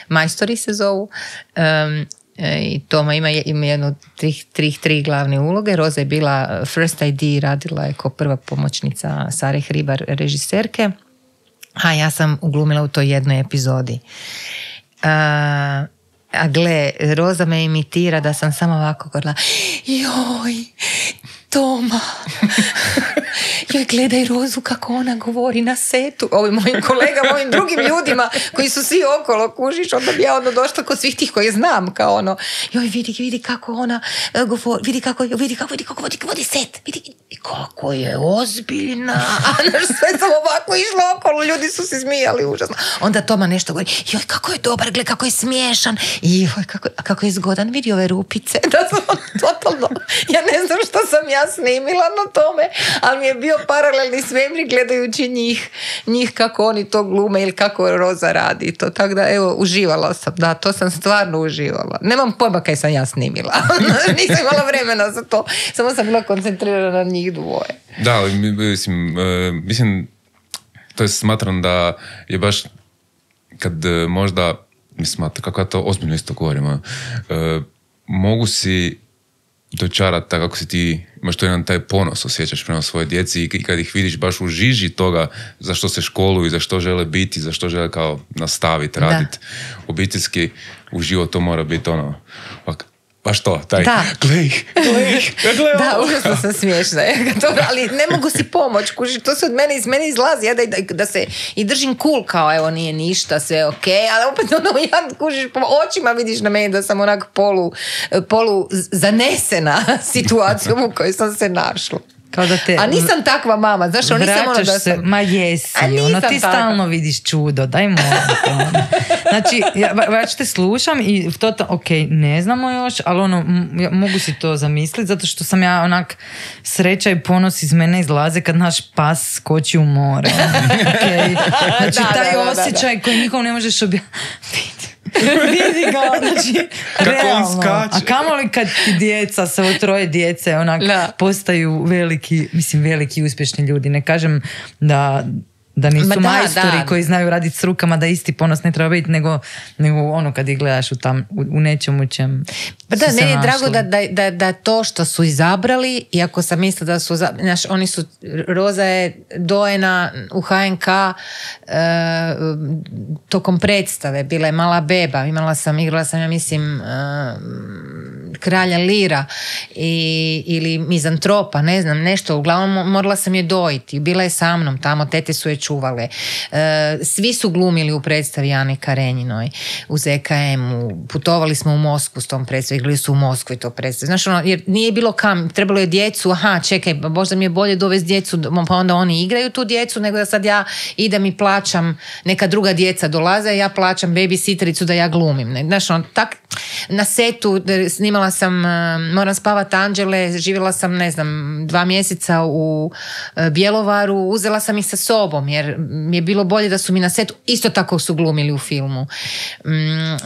Majstori se zovu. Um, i Toma ima, ima jednu od tri, tri, tri glavne uloge. Roza je bila First I D, radila je kao prva pomoćnica Sare Hribar, režiserke, a ja sam uglumila u toj jednoj epizodi. Uh, a gle, Roza me imitira da sam samo ovako govorila, joj, Toma, joj, gledaj Rozu kako ona govori na setu. Ovim mojim kolegama, ovim drugim ljudima koji su svi okolo, kužiš, onda bi ja ono došla kod svih tih koje znam, kao ono, joj, vidi, vidi kako ona uh, govori, vidi kako, vidi kako, vidi kako vodi, vodi set, vidi kako je ozbiljna. A naš sve sam ovako išla okolo, ljudi su se smijali užasno. Onda Toma nešto govori, joj, kako je dobar, gled, kako je smiješan, joj, kako, kako je zgodan, vidi ove rupice. Da sam totalno, ja ne znam što sam ja snimila na tome, ali mi je bio paralelni svemir gledajući njih, njih kako oni to glume ili kako Roza radi to. Tako da, evo, uživala sam, da, to sam stvarno uživala. Nemam pojma kaj sam ja snimila. Nisam imala vremena za to. Samo sam bila koncentrirana na njih dvoje. Da, ali mislim, mislim, to je smatram da je baš kad možda, mislim, kako ja to ozbiljno isto govorim, mogu si dočarati tako kako si ti, imaš to jedan taj ponos osjećaš prema svoje djeci i kad ih vidiš baš u žiži toga za što se školuju, za što žele biti, za što žele kao nastaviti, raditi obiteljski, u život to mora biti ono, ovak, baš to, taj, Da. glej, glej, glej, Da, ovo. užasno sam smiješna. To, ali ne mogu si pomoć, kuži, to se od mene, iz mene izlazi. Ja da, da, da se i držim cool, kao evo nije ništa, sve ok, ali opet ono, ja kužiš, po očima vidiš na meni da sam onak polu, polu zanesena situacijom u kojoj sam se našla. Kao da te A nisam takva mama, znaš, ono, nisam ono da vraćaš se, sam... ma jesi, A nisam ono, ti takva. stalno vidiš čudo, daj molim te, ono. Znači, ja, ja te slušam i to, ok, ne znamo još, ali ono, m- ja mogu si to zamisliti, zato što sam ja onak, sreća i ponos iz mene izlaze kad naš pas skoči u more. Okay. Znači, Da, taj da, da, da, da. osjećaj koji nikom ne možeš objasniti. Vidi ga, znači, Kako on realno. skače. A kamoli kad ti djeca, samo troje djece, onak, Da. postaju veliki, mislim, veliki uspješni ljudi. Ne kažem da, da nisu Ma da, majstori da. koji znaju raditi s rukama, da isti ponos ne treba biti, nego, nego ono kad ih gledaš u, tam, u, u nečemu čem Pa su da, se meni je našli. drago da, da, da, da to što su izabrali, iako sam mislila da su, za- znaš, oni su, Roza je dojena u ha en ka e, tokom predstave, bila je mala beba, imala sam, igrala sam, ja mislim, e, Kralja Lira i, ili Mizantropa, ne znam, nešto, uglavnom mo- morala sam je dojiti, bila je sa mnom tamo, tete su je čuvale. E, svi su glumili u predstavi Ane Karenjinoj, u zet ka emu, putovali smo u Moskvu s tom predstavom, igrali su u Moskvi to predstavu. Znaš, ono, jer nije bilo kam, trebalo je djecu, aha, čekaj, možda mi je bolje dovesti djecu, pa onda oni igraju tu djecu, nego da sad ja idem i plaćam, neka druga djeca dolaze, ja plaćam babysittericu da ja glumim. Ne? Znaš, ono, tak, na setu snimala sam uh, Moram spavat anđele, živjela sam, ne znam, dva mjeseca u uh, Bjelovaru, uzela sam ih sa sobom, jer mi je bilo bolje da su mi na setu, isto tako su glumili u filmu. Mm,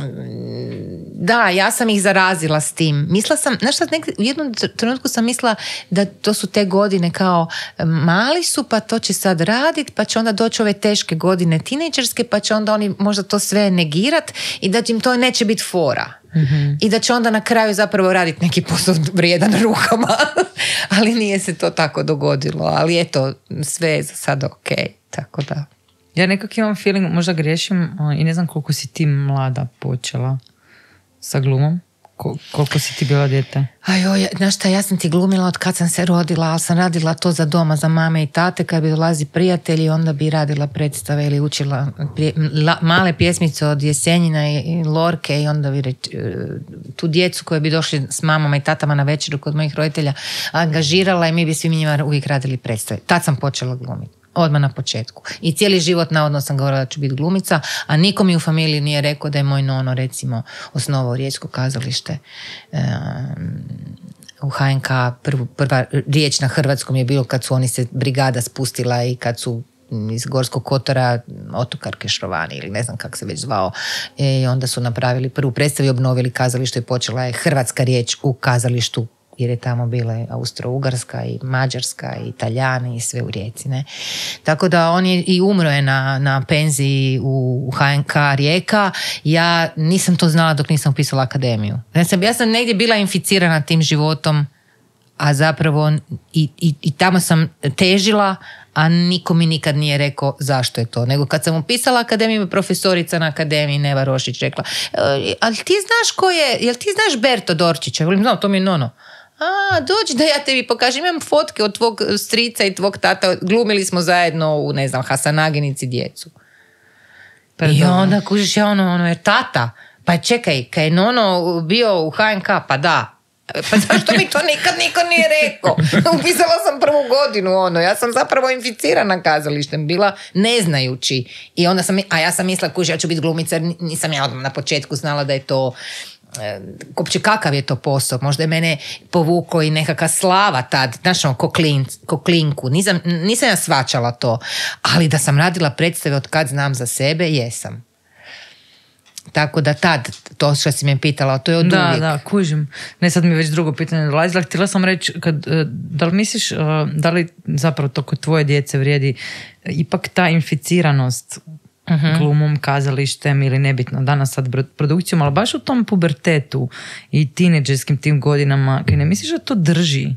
da, ja sam ih zarazila s tim. Mislila sam, znaš šta, nek- u jednom trenutku sam mislila da to su te godine kao mali su, pa to će sad radit, pa će onda doći ove teške godine tinejdžerske, pa će onda oni možda to sve negirat i da im to neće biti fora. Mm-hmm. I da će onda na kraju zapravo raditi neki posao vrijedan rukama. Ali nije se to tako dogodilo. Ali eto, sve je za sada ok. Tako da. Ja nekak imam feeling, možda griješim a, i ne znam koliko si ti mlada počela sa glumom. Ko- koliko si ti bila dijete? Ajoj, znaš šta, ja sam ti glumila od kad sam se rodila, ali sam radila to za doma, za mame i tate, kad bi dolazi prijatelji, onda bi radila predstave ili učila prije, la, male pjesmice od Jesenjina i, i Lorke i onda bi reč, tu djecu koje bi došli s mamama i tatama na večeru kod mojih roditelja angažirala i mi bi svi njima uvijek radili predstave. Tad sam počela glumiti. Odmah na početku. I cijeli život navodno sam govorila da ću biti glumica, a niko mi u familiji nije rekao da je moj nono, recimo, osnovao Riječko kazalište. Um, u ha en ka prv, prva riječ na hrvatskom je bilo kad su oni se brigada spustila i kad su iz Gorskog kotara Otokar Kešrovani ili ne znam kako se već zvao. I onda su napravili prvu predstavu i obnovili kazalište i počela je hrvatska riječ u kazalištu, jer je tamo bila Austro-Ugarska i Mađarska i Italijani i sve u Rijeci. Ne? Tako da on je i umro je na, na penziji u, u ha en ka Rijeka. Ja nisam to znala dok nisam upisala akademiju. Ja sam, ja sam negdje bila inficirana tim životom, a zapravo i, i, i tamo sam težila, a niko mi nikad nije rekao zašto je to. Nego kad sam upisala akademiju, profesorica na akademiji Neva Rošić rekla, e, ali ti znaš ko je, jel ti znaš Berto Dorčića? Ja volim, znam, to mi je nono. A, dođi da ja tebi pokažem, imam fotke od tvog strica i tvog tata, glumili smo zajedno u, ne znam, Hasanaginici djecu. I onda kužiš, ja ono, ono je tata, pa čekaj, kad je nono bio u ha en ka, pa da, pa zašto mi to nikad niko nije rekao? Upisala sam prvu godinu, ono, ja sam zapravo inficirana kazalištem, bila ne znajući. I onda sam, a ja sam mislila, kuži, ja ću biti glumica, nisam ja odmah na početku znala da je to, uopće kakav je to posao, možda je mene povukao i nekakva slava tad, znaš ono, ko, klin, ko klinku, nisam, nisam ja svačala to, ali da sam radila predstave od kad znam za sebe, jesam. Tako da tad, to što si me pitala, to je od da, uvijek. Da, kužim. Ne, sad mi je već drugo pitanje dolazila. Htjela sam reći, kad, da li misliš, da li zapravo to kod tvoje djece vrijedi ipak ta inficiranost uh-huh. glumom, kazalištem ili nebitno danas sad produkcijom, ali baš u tom pubertetu i tineđerskim tim godinama, kaj ne misliš da to drži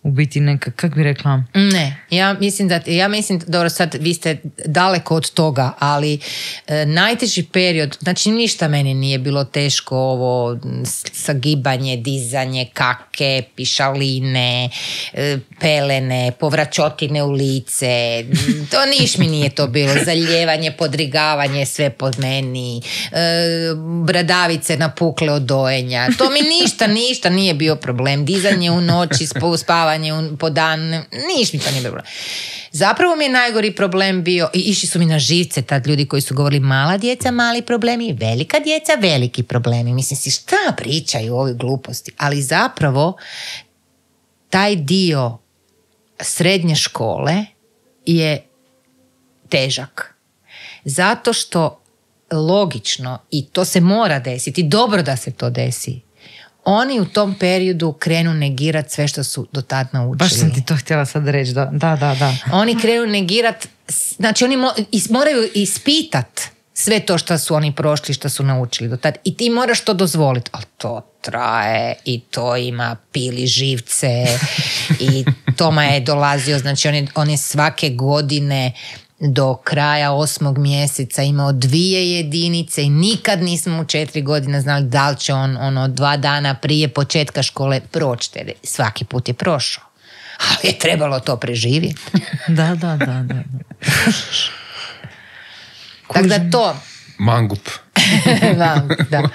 u biti neka, kak bi rekla? Ne, ja mislim da, ja mislim, dobro sad vi ste daleko od toga, ali e, najteži period, znači ništa meni nije bilo teško ovo sagibanje, dizanje, kake, pišaline, e, pelene, povraćotine u lice, to niš mi nije to bilo, zaljevanje, podrigavanje, sve pod meni, e, bradavice napukle od dojenja, to mi ništa, ništa nije bio problem, dizanje u noći, spavanje po dan, niš mi to nije bio problem. Zapravo mi je najgori problem bio, i išli su mi na živce tad ljudi koji su govorili mala djeca, mali problemi, velika djeca, veliki problemi. Mislim si, šta pričaju ove gluposti? Ali zapravo taj dio srednje škole je težak. Zato što logično, i to se mora desiti, dobro da se to desi, oni u tom periodu krenu negirati sve što su do tad naučili. Baš sam ti to htjela sad reći. Da, da, da. da. Oni krenu negirati, znači oni mo, is, moraju ispitat sve to što su oni prošli, što su naučili do tad. I ti moraš to dozvoliti. Ali to traje i to ima pili živce i Toma je dolazio, znači on je, on je svake godine do kraja osmog mjeseca imao dvije jedinice i nikad nismo u četiri godine znali da li će on ono dva dana prije početka škole proći. Svaki put je prošao. Ali je trebalo to preživjeti. Da, da, da. da. Tako da to... Mangup. da, da.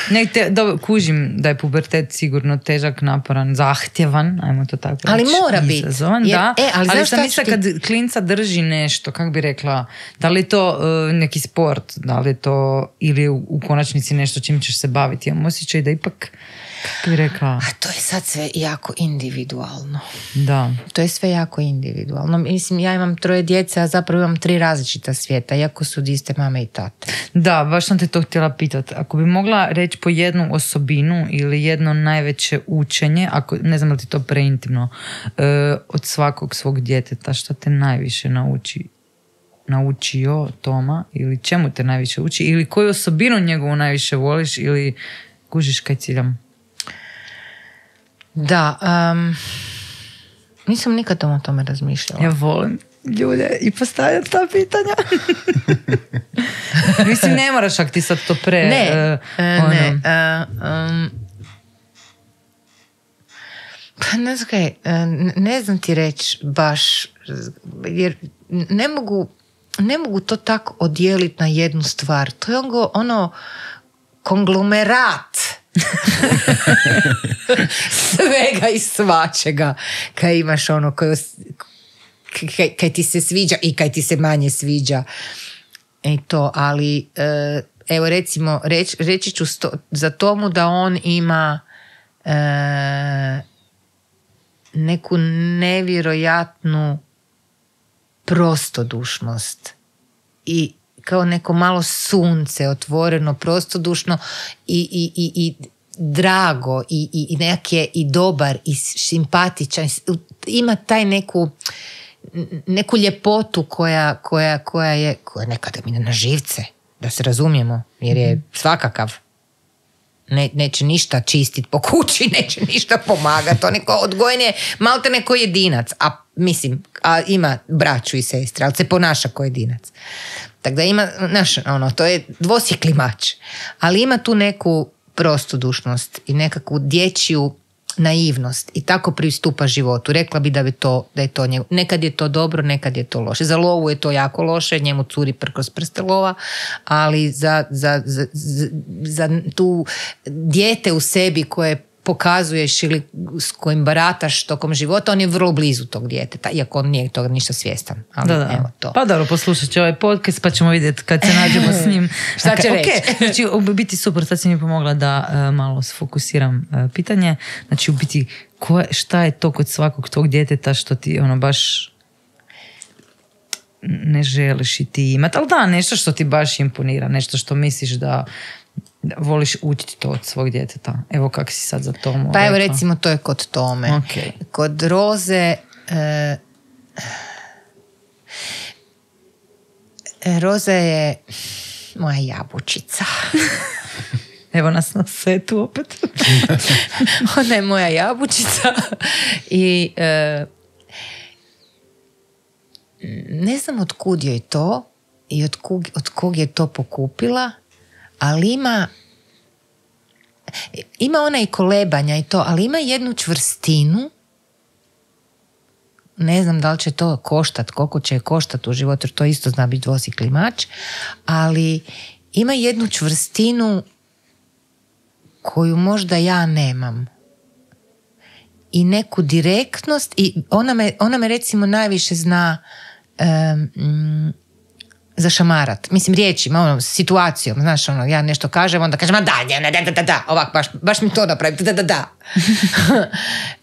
Ne, te, da, kužim da je pubertet sigurno težak, naporan, zahtjevan, ajmo to tako reći. Ali mora biti. Da, e, ali, ali sam mislila ti... kad klinca drži nešto, kako bi rekla, da li je to uh, neki sport, da li je to ili u, u konačnici nešto čim ćeš se baviti. Imam osjećaj da ipak, kako bi rekla... A to je sad sve jako individualno. Da. To je sve jako individualno. Mislim, ja imam troje djece, a zapravo imam tri različita svijeta, iako su iste mame i tate. Da, baš sam te to htjela pitati. Ako bi mogla reći po jednu osobinu ili jedno najveće učenje, ako ne znam da ti to preintimno, e, od svakog svog djeteta, što te najviše nauči, naučio Toma, ili čemu te najviše uči, ili koju osobinu njegovu najviše voliš, ili kužiš kaj ciljam? Da, um, nisam nikad o tome razmišljala. Ja volim ljude i postavljam ta pitanja. Mislim, ne moraš ako ti sad to pre... Ne, uh, uh, ne. Uh, um, pa ne znam kaj, uh, ne znam ti reći baš, jer ne mogu, ne mogu to tako odijeliti na jednu stvar. To je ono, ono konglomerat svega i svačega kaj imaš ono koje kaj, kaj ti se sviđa i kaj ti se manje sviđa i to, ali evo recimo reć, reći ću sto, za Tomu da on ima e, neku nevjerojatnu prostodušnost i kao neko malo sunce otvoreno, prostodušno i, i, i, i drago i, i, i nekak je i dobar i simpatičan, ima taj neku neku ljepotu koja, koja, koja je koja nekada mi na živce, da se razumijemo, jer je svakakav. Ne, neće ništa čistiti po kući, neće ništa pomagati, on je odgojen je malte neko jedinac, a mislim, a ima braću i sestre, ali se ponaša kao jedinac. Tako da ima, znaš, ono, to je dvosjekli mač, ali ima tu neku prostodušnost i nekakvu dječju naivnost i tako pristupa životu. Rekla bi da, bi to, da je to njegu. Nekad je to dobro, nekad je to loše. Za lovu je to jako loše, njemu curi kroz prste lova, ali za, za, za, za tu dijete u sebi koje pokazuješ ili s kojim barataš tokom života, on je vrlo blizu tog djeteta, iako on nije toga ništa svjestan. Ali da, da. Evo to. Pa dobro, poslušat ću ovaj podcast pa ćemo vidjeti kad se nađemo s njim. Šta će okay, reći? Okay. Znači, u biti super, sad si mi pomogla da uh, malo sfokusiram uh, pitanje. Znači, u biti, ko, šta je to kod svakog tog djeteta što ti ono baš ne želiš i ti imati, ali da, nešto što ti baš imponira, nešto što misliš da Da voliš učiti to od svog djeteta. Evo kak si sad za Tomu Pa evo rekla. recimo to je kod Tome. Okay. Kod Roze e, Roza je moja jabučica. Evo nas na setu opet. Ona je moja jabučica. I e, ne znam od kud joj to i od kog, od kog je to pokupila, ali ima ima ona i kolebanja i to, ali ima jednu čvrstinu. Ne znam da li će to koštat, koliko će koštat u životu, jer to isto zna biti dvosikli mač, ali ima jednu čvrstinu koju možda ja nemam. I neku direktnost, i ona me, ona me recimo najviše zna um, zašamarat. Mislim, riječima, ono, situacijom, znaš, ono, ja nešto kažem, onda kažem, a da, da, da, da, da, da, ovak, baš, baš mi to napravi, da, da, da.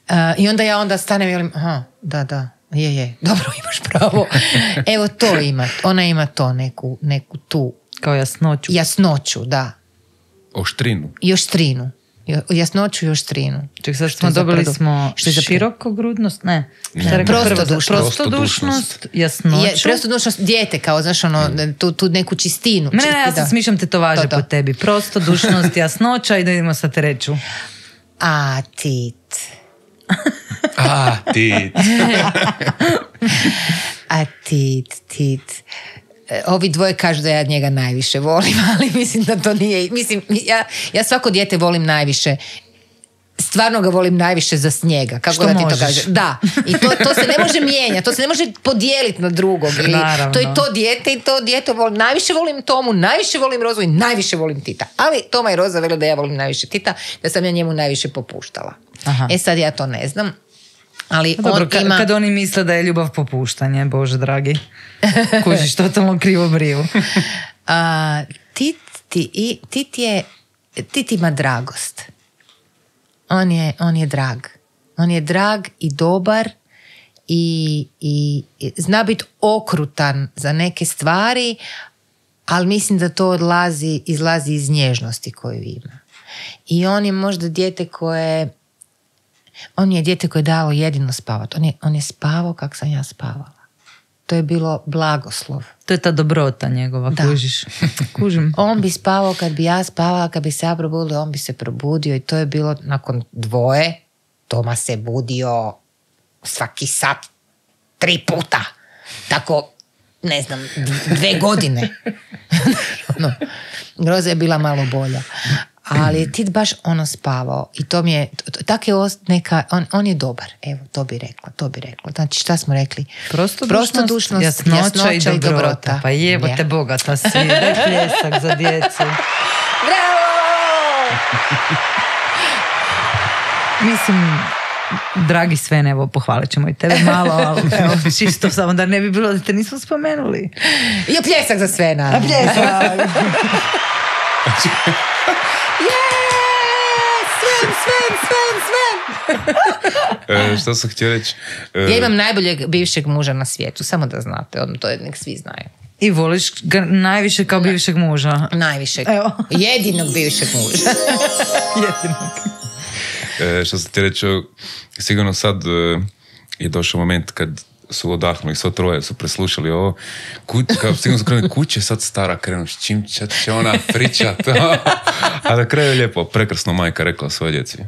uh, I onda ja onda stanem i velim, aha, da, da, je, je, dobro, imaš pravo. Evo, to ima, ona ima to, neku, neku tu. Kao jasnoću. Jasnoću, da. Oštrinu. I oštrinu. Jasnoću i oštrinu. Ček, sad smo dobili smo širokogrudnost, ne. ne. Prostodušnost. Prostodušnost, jasnoću. Je, prostodušnost, dijete kao, znaš, ono, tu, tu neku čistinu. Ne, ne, ja sad smišljam tetovaže to, to. po tebi. Prostodušnost, jasnoća i da idemo sa treću. A, tit. A, tit. A, tit, tit. Ovi dvoje kažu da ja njega najviše volim, ali mislim da to nije. Mislim, ja, ja svako dijete volim najviše. Stvarno ga volim najviše za snijega. Kako što da ti možeš. to kažeš? Da. I to, to se ne može mijenjati, to se ne može podijeliti na drugog. Ili Naravno. to je to dijete i to dijete volim. Najviše volim Tomu, najviše volim Rozu i najviše volim Tita. Ali Toma i Roza vele da ja volim najviše Tita, da sam ja njemu najviše popuštala. Aha. E sad ja to ne znam. Ali Dobro, on ka- ima... kad oni misle da je ljubav popuštanje, Bože dragi. Kužiš, totalno krivo briju. A, tit, ti, i, tit, je, tit ima dragost. On je, on je drag. On je drag i dobar i, i, i zna biti okrutan za neke stvari, ali mislim da to odlazi, izlazi iz nježnosti koju ima. I on je možda dijete koje... On je dijete koje je dalo jedino spavati. On je, on je spavao kako sam ja spavala. To je bilo blagoslov. To je ta dobrota njegova, Da. kužiš. Kužim. On bi spavao kad bi ja spavala, kad bi se ja probudila, on bi se probudio i to je bilo nakon dvoje. Toma se budio svaki sat, tri puta. Tako, ne znam, dve godine. No, Groza je bila malo bolja. Ali je Tit baš ono spavao i to mi je, tak je ost, neka, on, on je dobar, evo, to bi rekla, to bi rekla. Znači, šta smo rekli? Prostodušnost, Prostodušnost, jasnoća, jasnoća i i dobrota. dobrota. Pa jebote, Je. bogata si. Daj pljesak za djecu. Bravo! Mislim, dragi Sven, evo, pohvalit ćemo i tebe malo, ali evo, čisto samo da ne bi bilo da te nismo spomenuli. I pljesak za Svena. A pljesak! Sven, Sven, Sven, Sven! E, što sam htio reći? E, Ja imam najboljeg bivšeg muža na svijetu, samo da znate, on, to je, nek svi znaju. I voliš ga najviše kao bivšeg muža. Najvišeg. Evo. Jedinog bivšeg muža. Jedinog. e, što sam htio reći, sigurno sad e, je došao moment kad su odahnuli, svo troje su preslušali ovo, Ku, kao sigurno su krenuli, kuće sad stara krenu, s čim će, će ona pričat. A na kraju je lijepo, prekrasno majka rekla svojoj djeci.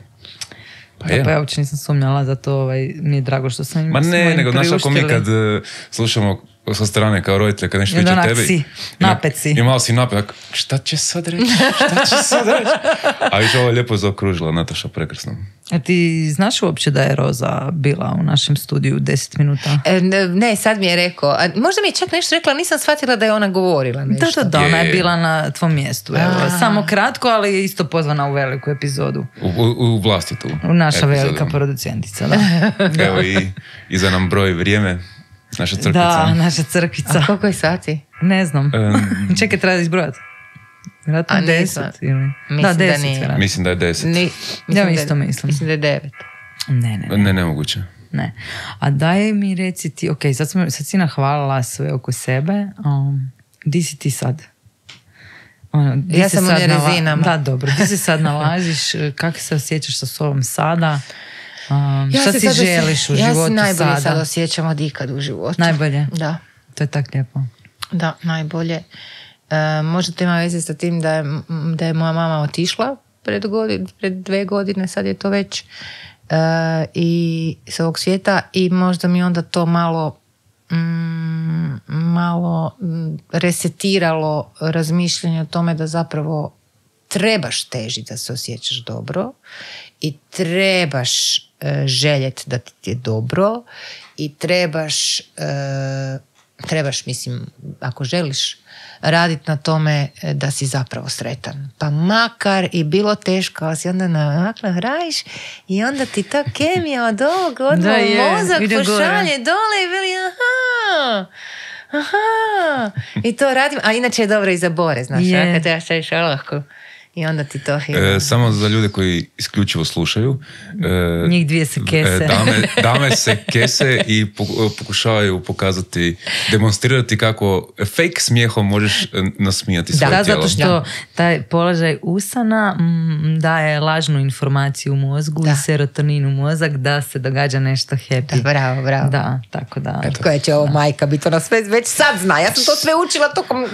Pa Da, je. pa ja uopće nisam sumnjala, zato ovaj, mi je drago što sam im Ma smo ne, im nego znaš ako mi priuštili. kad e, slušamo sa strane kao roditelje, kad nešto I onda viče onak tebi. si, i napet si. I malo si napet, tako, šta će sad reći? Šta će sad reći? A viš ovo je lijepo zaokružila Nataša, prekrasno. A ti znaš uopće da je Roza bila u našem studiju deset minuta? E, ne, ne, sad mi je rekao. A možda mi je čak nešto rekla, nisam shvatila da je ona govorila Da, nešto. da, da, Je, ona je je. bila na tvom mjestu. Evo. A. Samo kratko, ali je isto pozvana u veliku epizodu. U, u, u vlastitu. U naša epizodu. velika producentica, da. Evo i iza nam broj vrijeme, naša crkvica. Da, naša crkvica. A koliko je sati? Ne znam. Em, Čekaj, treba da izbrojati. Vjerojatno A deset. nisam. Ili... Mislim Da, da deset. nije. vjerojatno. mislim da je deset. Ni, Ja da je- isto mislim. Mislim da je devet. Ne, ne, ne. Ne, nemoguće. Ne. A daj mi reci ti, ok, sad, smo, sad si nahvalila sve oko sebe, um, di si ti sad? Ono, di Ja se sam u sad nala- nerezinama. Da, dobro. Di se sad nalaziš? Kako se osjećaš sa sobom sada? Um, šta se si sad osje- želiš u ja životu se najbolje sada? sad osjećam od ikad u životu. Najbolje? Da, To je tak lijepo. da, najbolje. E, možda to ima veze sa tim da je, da je moja mama otišla pred, godin, pred dve godine, sad je to već, e, i s ovog svijeta, i možda mi onda to malo mm, malo resetiralo razmišljanje o tome da zapravo trebaš težiti da se osjećaš dobro i trebaš e, željeti da ti je dobro i trebaš e, trebaš, mislim, ako želiš raditi na tome da si zapravo sretan. Pa makar i bilo teško, ali si onda namakla hrajiš i onda ti ta kemija od ovog odmah mozak pošalje dole i veli aha, aha. I to radim, a inače je dobro i za bore, znaš, yeah. Kad ja šalješ olahko. I onda ti to e, samo za ljude koji isključivo slušaju. E, Njih dvije se kese. E, dame, dame se kese i pokušavaju pokazati, demonstrirati kako fake smijehom možeš nasmijati svoje da, tijelo. Da, zato što taj položaj usana m, daje lažnu informaciju u mozgu da. I serotonin u mozak da se događa nešto happy. Da, bravo, bravo. Da, tako da. Eto. Koja će ovo da. Majka biti, ona sve već sad zna. Ja sam to sve učila tokom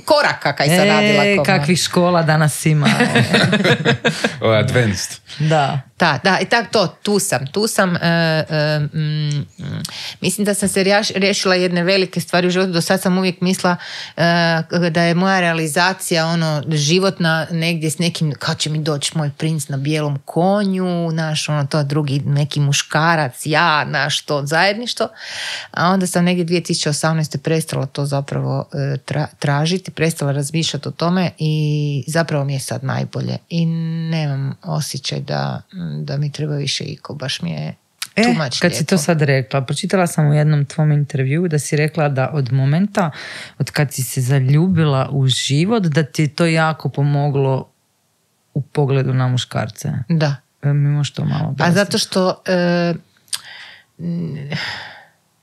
koraka kaj sam e, radila. Koma. Kakvih škola danas ima. Ovo je advanced. Da. Da, da, i tako to, tu sam, tu sam, uh, uh, mm, mislim da sam se riješila jedne velike stvari u životu, do sad sam uvijek mislila uh, da je moja realizacija ono, životna negdje s nekim, kao će mi doći moj princ na bijelom konju, naš, ono, to drugi neki muškarac, ja, naš, to zajedništvo, a onda sam negdje dvije tisuće osamnaeste prestala to zapravo uh, tra, tražiti, prestala razmišljati o tome i zapravo mi je sad najbolje i nemam osjećaj da da mi treba više iko, baš mi je e, too much kad lijepo. Si to sad rekla, pročitala sam u jednom tvom intervju da si rekla da od momenta od kad si se zaljubila u život da ti je to jako pomoglo u pogledu na muškarce. Da. E, mi možeš to malo objasniti. A zato što e,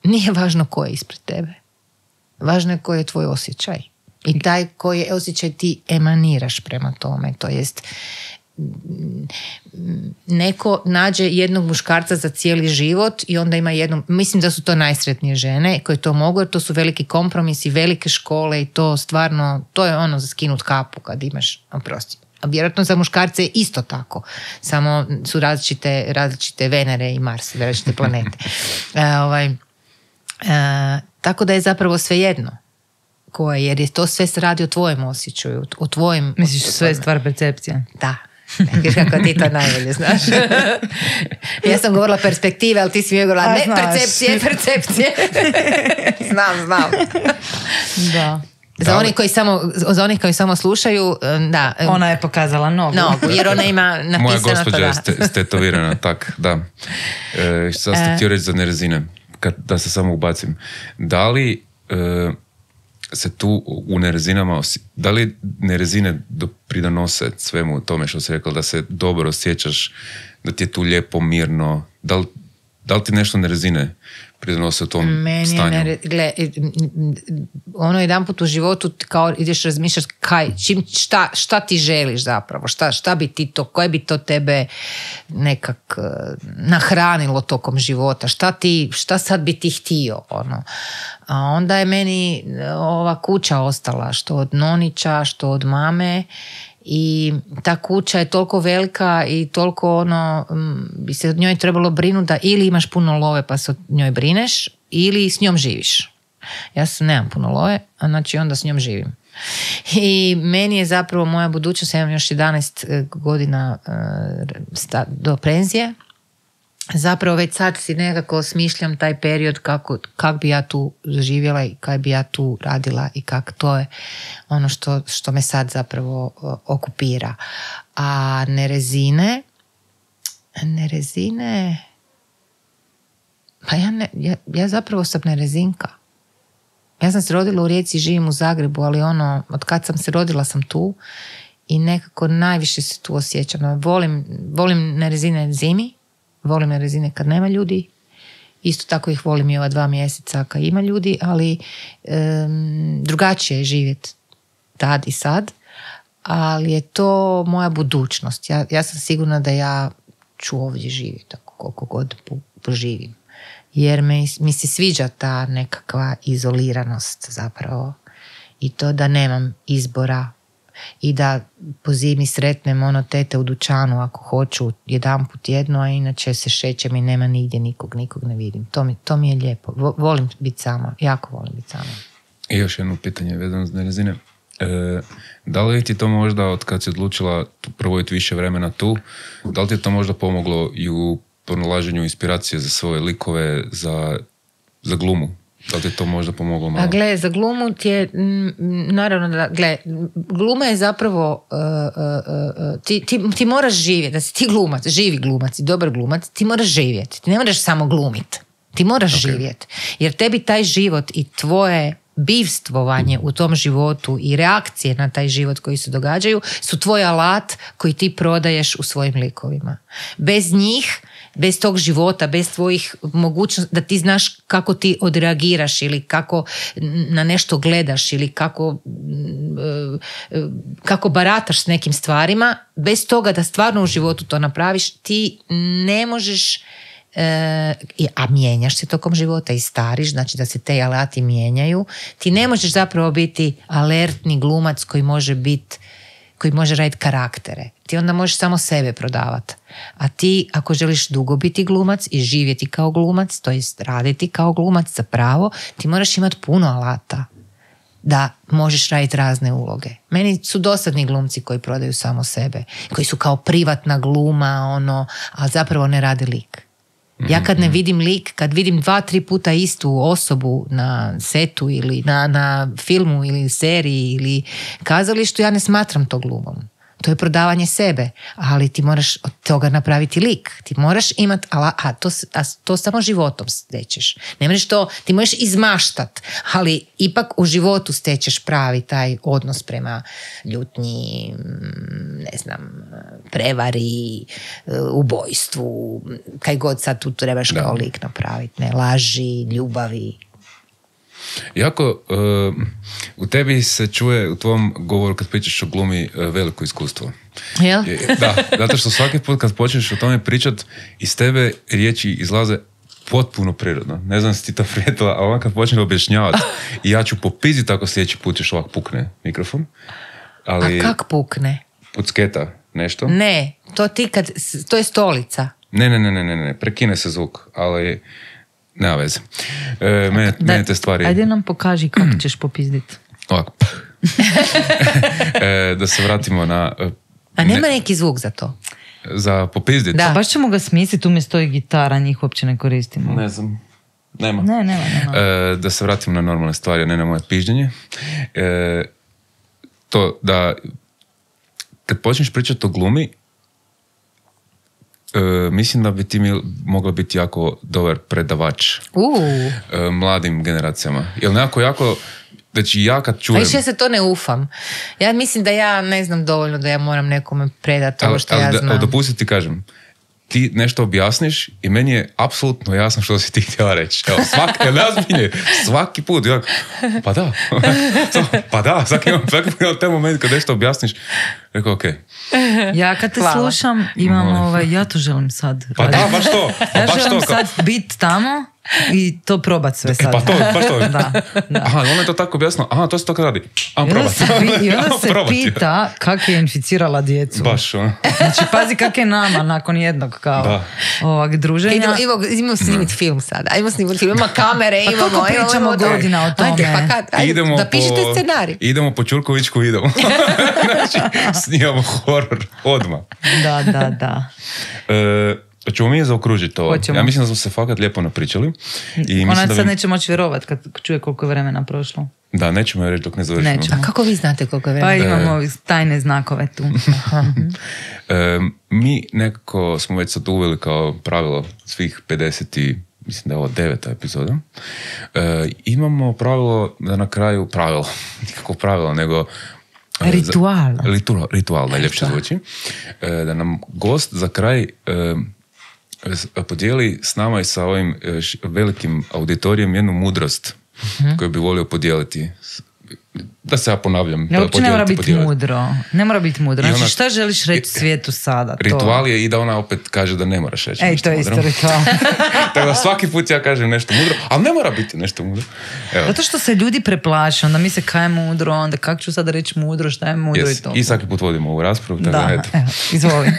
nije važno ko je ispred tebe. Važno je koji je tvoj osjećaj. I taj koji je osjećaj ti emaniraš prema tome. To jest neko nađe jednog muškarca za cijeli život i onda ima jednu, mislim da su to najsretnije žene koje to mogu, jer to su veliki kompromisi, velike škole i to stvarno, to je ono za skinut kapu kad imaš, oprosti. A vjerojatno za muškarce je isto tako, samo su različite, različite Venere i Mars, različite planete. e, ovaj, e, tako da je zapravo svejedno koje, jer je to sve se radi o tvojem osjećaju, o tvojim... Misliš sve je stvar percepcije? Da. Viš kako ti to najbolje znaš. Ja sam govorila perspektive, ali ti si mi govorila ne, znaš. percepcije, percepcije. znam, znam. Da. Za onih koji samo, za onih koji samo slušaju, da. Ona je pokazala nogu. Nogu, jer ona ima napisano. Moja gospođa je ste, stetovirana, tak, da. E, sad ste e. htio reći za nerezine, kad, da se samo ubacim. Da li... E, se tu u nerezinama, da li nerezine pridonose svemu tome što si rekla, da se dobro osjećaš, da ti je tu lijepo, mirno, da li, da li ti nešto nerezine pridonose u tom Meni stanju? Meni je, ono jedan put u životu kao ideš razmišljati kaj, čim, šta, šta ti želiš zapravo, šta, šta bi ti to, koje bi to tebe nekak nahranilo tokom života, šta, ti, šta sad bi ti htio, ono. A onda je meni ova kuća ostala, što od nonića, što od mame, i ta kuća je toliko velika i toliko ono, bi se od njoj trebalo brinuti da ili imaš puno love pa se od njoj brineš ili s njom živiš. Ja sam nemam puno love, a znači onda s njom živim. I meni je zapravo moja budućnost, ja imam još jedanaest godina do penzije, zapravo već sad si nekako smišljam taj period kako, kako bi ja tu živjela i kako bi ja tu radila i kako to je ono što, što me sad zapravo okupira. A nerezine, nerezine, pa ja, ne, ja, ja zapravo sam nerezinka. Ja sam se rodila u Rijeci, živim u Zagrebu, ali ono, od kad sam se rodila sam tu i nekako najviše se tu osjećam. Volim, volim nerezine zimi, volim nerezine kad nema ljudi, isto tako ih volim i ova dva mjeseca kad ima ljudi, ali um, drugačije je živjeti tad i sad, ali je to moja budućnost. Ja, ja sam sigurna da ja ću ovdje živjeti koliko god poživim. Jer mi, mi se sviđa ta nekakva izoliranost zapravo i to da nemam izbora i da po zimi sretnem ono tete u dućanu ako hoću jedan put jedno, a inače se šećem i nema nigdje nikog, nikog ne vidim. To mi, to mi je lijepo. Volim biti sama, jako volim biti sama. I još jedno pitanje vezano za Nerezine. E, da li ti to možda, od kad si odlučila provojiti više vremena tu, da li ti je to možda pomoglo i u pronalaženju inspiracije za svoje likove, za, za glumu? Da li ti je to možda pomoglo malo? A gle, za glumu ti je, m, naravno da, gle, gluma je zapravo, uh, uh, uh, ti, ti, ti moraš živjeti, da si ti glumac, živi glumac i dobar glumac, ti moraš živjeti, ti ne moraš samo glumiti, ti moraš okay. živjeti, jer tebi taj život i tvoje bivstvovanje u tom životu i reakcije na taj život koji se događaju su tvoj alat koji ti prodaješ u svojim likovima. Bez njih, bez tog života, bez tvojih mogućnosti da ti znaš kako ti odreagiraš ili kako na nešto gledaš ili kako, kako barataš s nekim stvarima, bez toga da stvarno u životu to napraviš, ti ne možeš. E, a mijenjaš se tokom života i stariš, znači da se te alati mijenjaju, ti ne možeš zapravo biti alertni glumac koji može biti, koji može raditi karaktere, ti onda možeš samo sebe prodavati, a ti ako želiš dugo biti glumac i živjeti kao glumac, to jest raditi kao glumac zapravo, ti moraš imati puno alata da možeš raditi razne uloge. Meni su dosadni glumci koji prodaju samo sebe, koji su kao privatna gluma, ono, a zapravo ne rade lik. Ja kad ne vidim lik, kad vidim dva, tri puta istu osobu na setu ili na, na filmu ili seriji ili kazalištu, ja ne smatram to glumom. To je prodavanje sebe, ali ti moraš od toga napraviti lik. Ti moraš imati, a to, a to samo životom stečeš. Ne možeš to, ti možeš izmaštat, ali ipak u životu stečeš pravi taj odnos prema ljutnji, ne znam, prevari, ubojstvu, kaj god sad tu trebaš kao lik napraviti. Ne, laži, ljubavi. Jako, uh, u tebi se čuje u tvom govoru kad pričaš o glumi uh, veliko iskustvo. Jel? Da, zato što svaki put kad počneš o tome pričat, iz tebe riječi izlaze potpuno prirodno. Ne znam si ti to prijetila, a ovak kad počneš objašnjavati i ja ću popiziti ako sljedeći put još ovak pukne mikrofon. Ali, a kak pukne? Pucketa nešto? Ne, to ti kad, to je stolica. Ne, ne, ne, ne, ne, ne, prekine se zvuk, ali... Nema veze. E, mene, da, mene te stvari... Ajde nam pokaži kako ćeš popizditi. Ovako. e, da se vratimo na... A nema ne, neki zvuk za to? Za popizditi? Da. Baš ćemo ga smisliti, tu mi stoji gitara, njih uopće ne koristimo. Ne znam. Nema. Ne, nema, nema. E, da se vratimo na normalne stvari, a ne na moje pižđenje. E, to da... Kad počneš pričati o glumi, Uh, mislim da bi ti mi mogla biti jako dobar predavač uh. uh, mladim generacijama. Jer nekako jako, znači ja kad čujem... A više ja se to ne ufam. Ja mislim da ja ne znam dovoljno da ja moram nekome predati ovo što ali, ja ali, znam. Ali dopustiti ti kažem, ti nešto objasniš i meni je apsolutno jasno što si ti htjela reći. Evo, svaki, ne svaki put. Ja, pa da. pa da, svaki imam, svaki imam taj moment kad nešto objasniš. Rekao, ok. Ja kad te Hvala. slušam, imam ovaj, ja to želim sad. Pa da, baš to. Pa ja baš želim to, sad biti tamo i to probat sve sad. E, pa to, baš to. da, da. Aha, ona je to tako objasnila. Aha, to se to radi. Ajmo probat. I onda se pita kak je inficirala djecu. Baš, ono. Znači, pazi kak je nama nakon jednog kao da. ovak druženja. Idemo, idemo, idemo snimiti film sada. Idemo snimiti film. Imamo kamere, pa imamo... Pa kako pričamo imamo, godina o tome? Ajde, pa kad, ajde, idemo da pišete po, scenarij. Idemo po Ćurkovićku, idemo. Znači, snimamo horor odmah. Da, da, da. E, ćemo mi je zaokružiti ovo. Hoćemo. Ja mislim da smo se fakat lijepo napričali. I Ona da sad bi... neće moći vjerovati kad čuje koliko je vremena prošlo. Da, nećemo je reći dok ne završimo. A kako vi znate koliko je vremena? Pa imamo e... tajne znakove tu. e, mi nekako smo već sad uveli kao pravilo svih pedeset i mislim da je ovo deveta epizoda. E, imamo pravilo da na kraju pravilo, nikako pravilo, nego Ritual. Za, ritual, ritual najljepše zvuči. E, da nam gost za kraj e, podijeli s nama i sa ovim e, š, velikim auditorijem jednu mudrost mm-hmm. koju bi volio podijeliti. da se ja ponavljam. Ne, uopće ne mora biti podijeliti. mudro. Ne mora biti mudro. I Znači, ona- šta želiš reći svijetu sada? To. Ritual je i da ona opet kaže da ne moraš reći Ej, nešto to je mudro. isto ritual. Tako da svaki put ja kažem nešto mudro, ali ne mora biti nešto mudro. Evo. Zato što se ljudi preplaše, onda misle kaj je mudro, onda kako ću sada reći mudro, šta je mudro Yes. i to. I svaki put vodimo ovu raspravu. Tako Da, da, eto. evo, izvoli.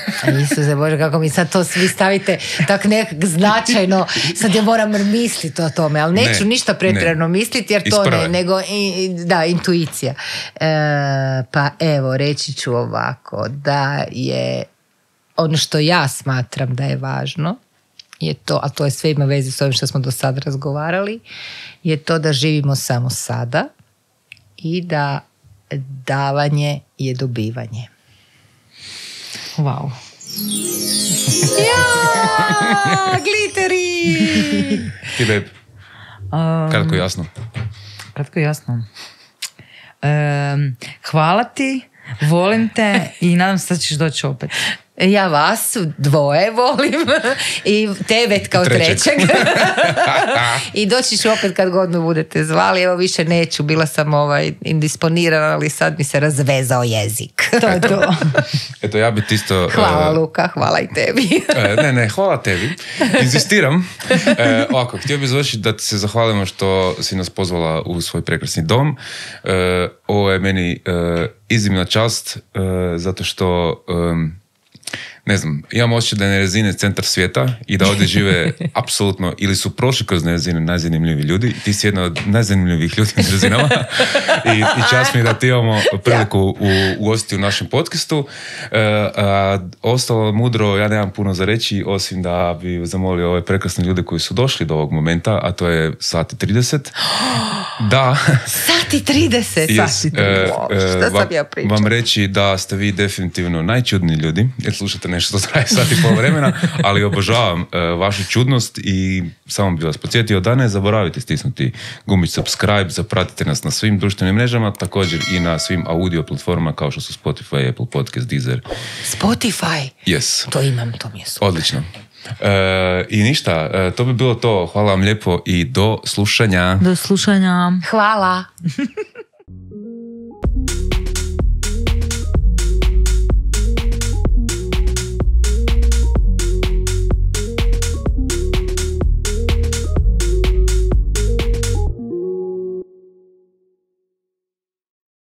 Isuse Bože, kako mi sad to svi stavite tak nekak značajno, sad ja moram misliti o tome, ali neću Ne, ništa pretjerano misliti jer Iz to prve. ne, nego i, i- da, intuicija. E, pa evo, reći ću ovako, da je ono što ja smatram da je važno, je to, a to je sve ima veze s ovim što smo do sada razgovarali, je to da živimo samo sada i da davanje je dobivanje. Wow. Ja, gliteri! Ti, babe, Um, kratko i jasno. Kratko i jasno. Um, hvala ti, volim te i nadam se da ćeš doći opet. Ja vas dvoje volim i tebe kao Trećeg. trećeg. I doći ću opet kad god me budete zvali. Evo više neću, bila sam ovaj indisponirana, ali sad mi se razvezao jezik. To je to. Eto, ja bi ti isto... Hvala e, Luka, hvala i tebi. e, ne, ne, hvala tebi. Inzistiram. E, ovako, htio bih završiti da ti se zahvalimo što si nas pozvala u svoj prekrasni dom. E, ovo je meni e, iznimna čast, e, zato što... e, ne znam, imam osjećaj da je Nerezine centar svijeta i da ovdje žive apsolutno, ili su prošli kroz Nerezine najzanimljiviji ljudi. Ti si jedna od najzanimljivijih ljudi u Nerezinama i, i čast mi je da ti imamo priliku u, ugostiti u našem podcastu. E, a, ostalo mudro, ja nemam puno za reći, osim da bi zamolio ove prekrasne ljude koji su došli do ovog momenta, a to je sat i trideset. Da. Sati trideset. Yes, Sati e, trideset. e, Šta sam vam, ja pričala? vam reći da ste vi definitivno najčudniji ljudi, jer slušate nešto što traje sat i pol vremena, ali obožavam e, vašu čudnost i samo bih vas podsjetio da ne zaboravite stisnuti gumić subscribe, zapratite nas na svim društvenim mrežama, također i na svim audio platformama kao što su Spotify, Apple Podcast, Deezer. Spotify. Yes. To imam, to mi je super. Odlično. E, I ništa, e, to bi bilo to. Hvala vam lijepo i do slušanja. Do slušanja. Hvala.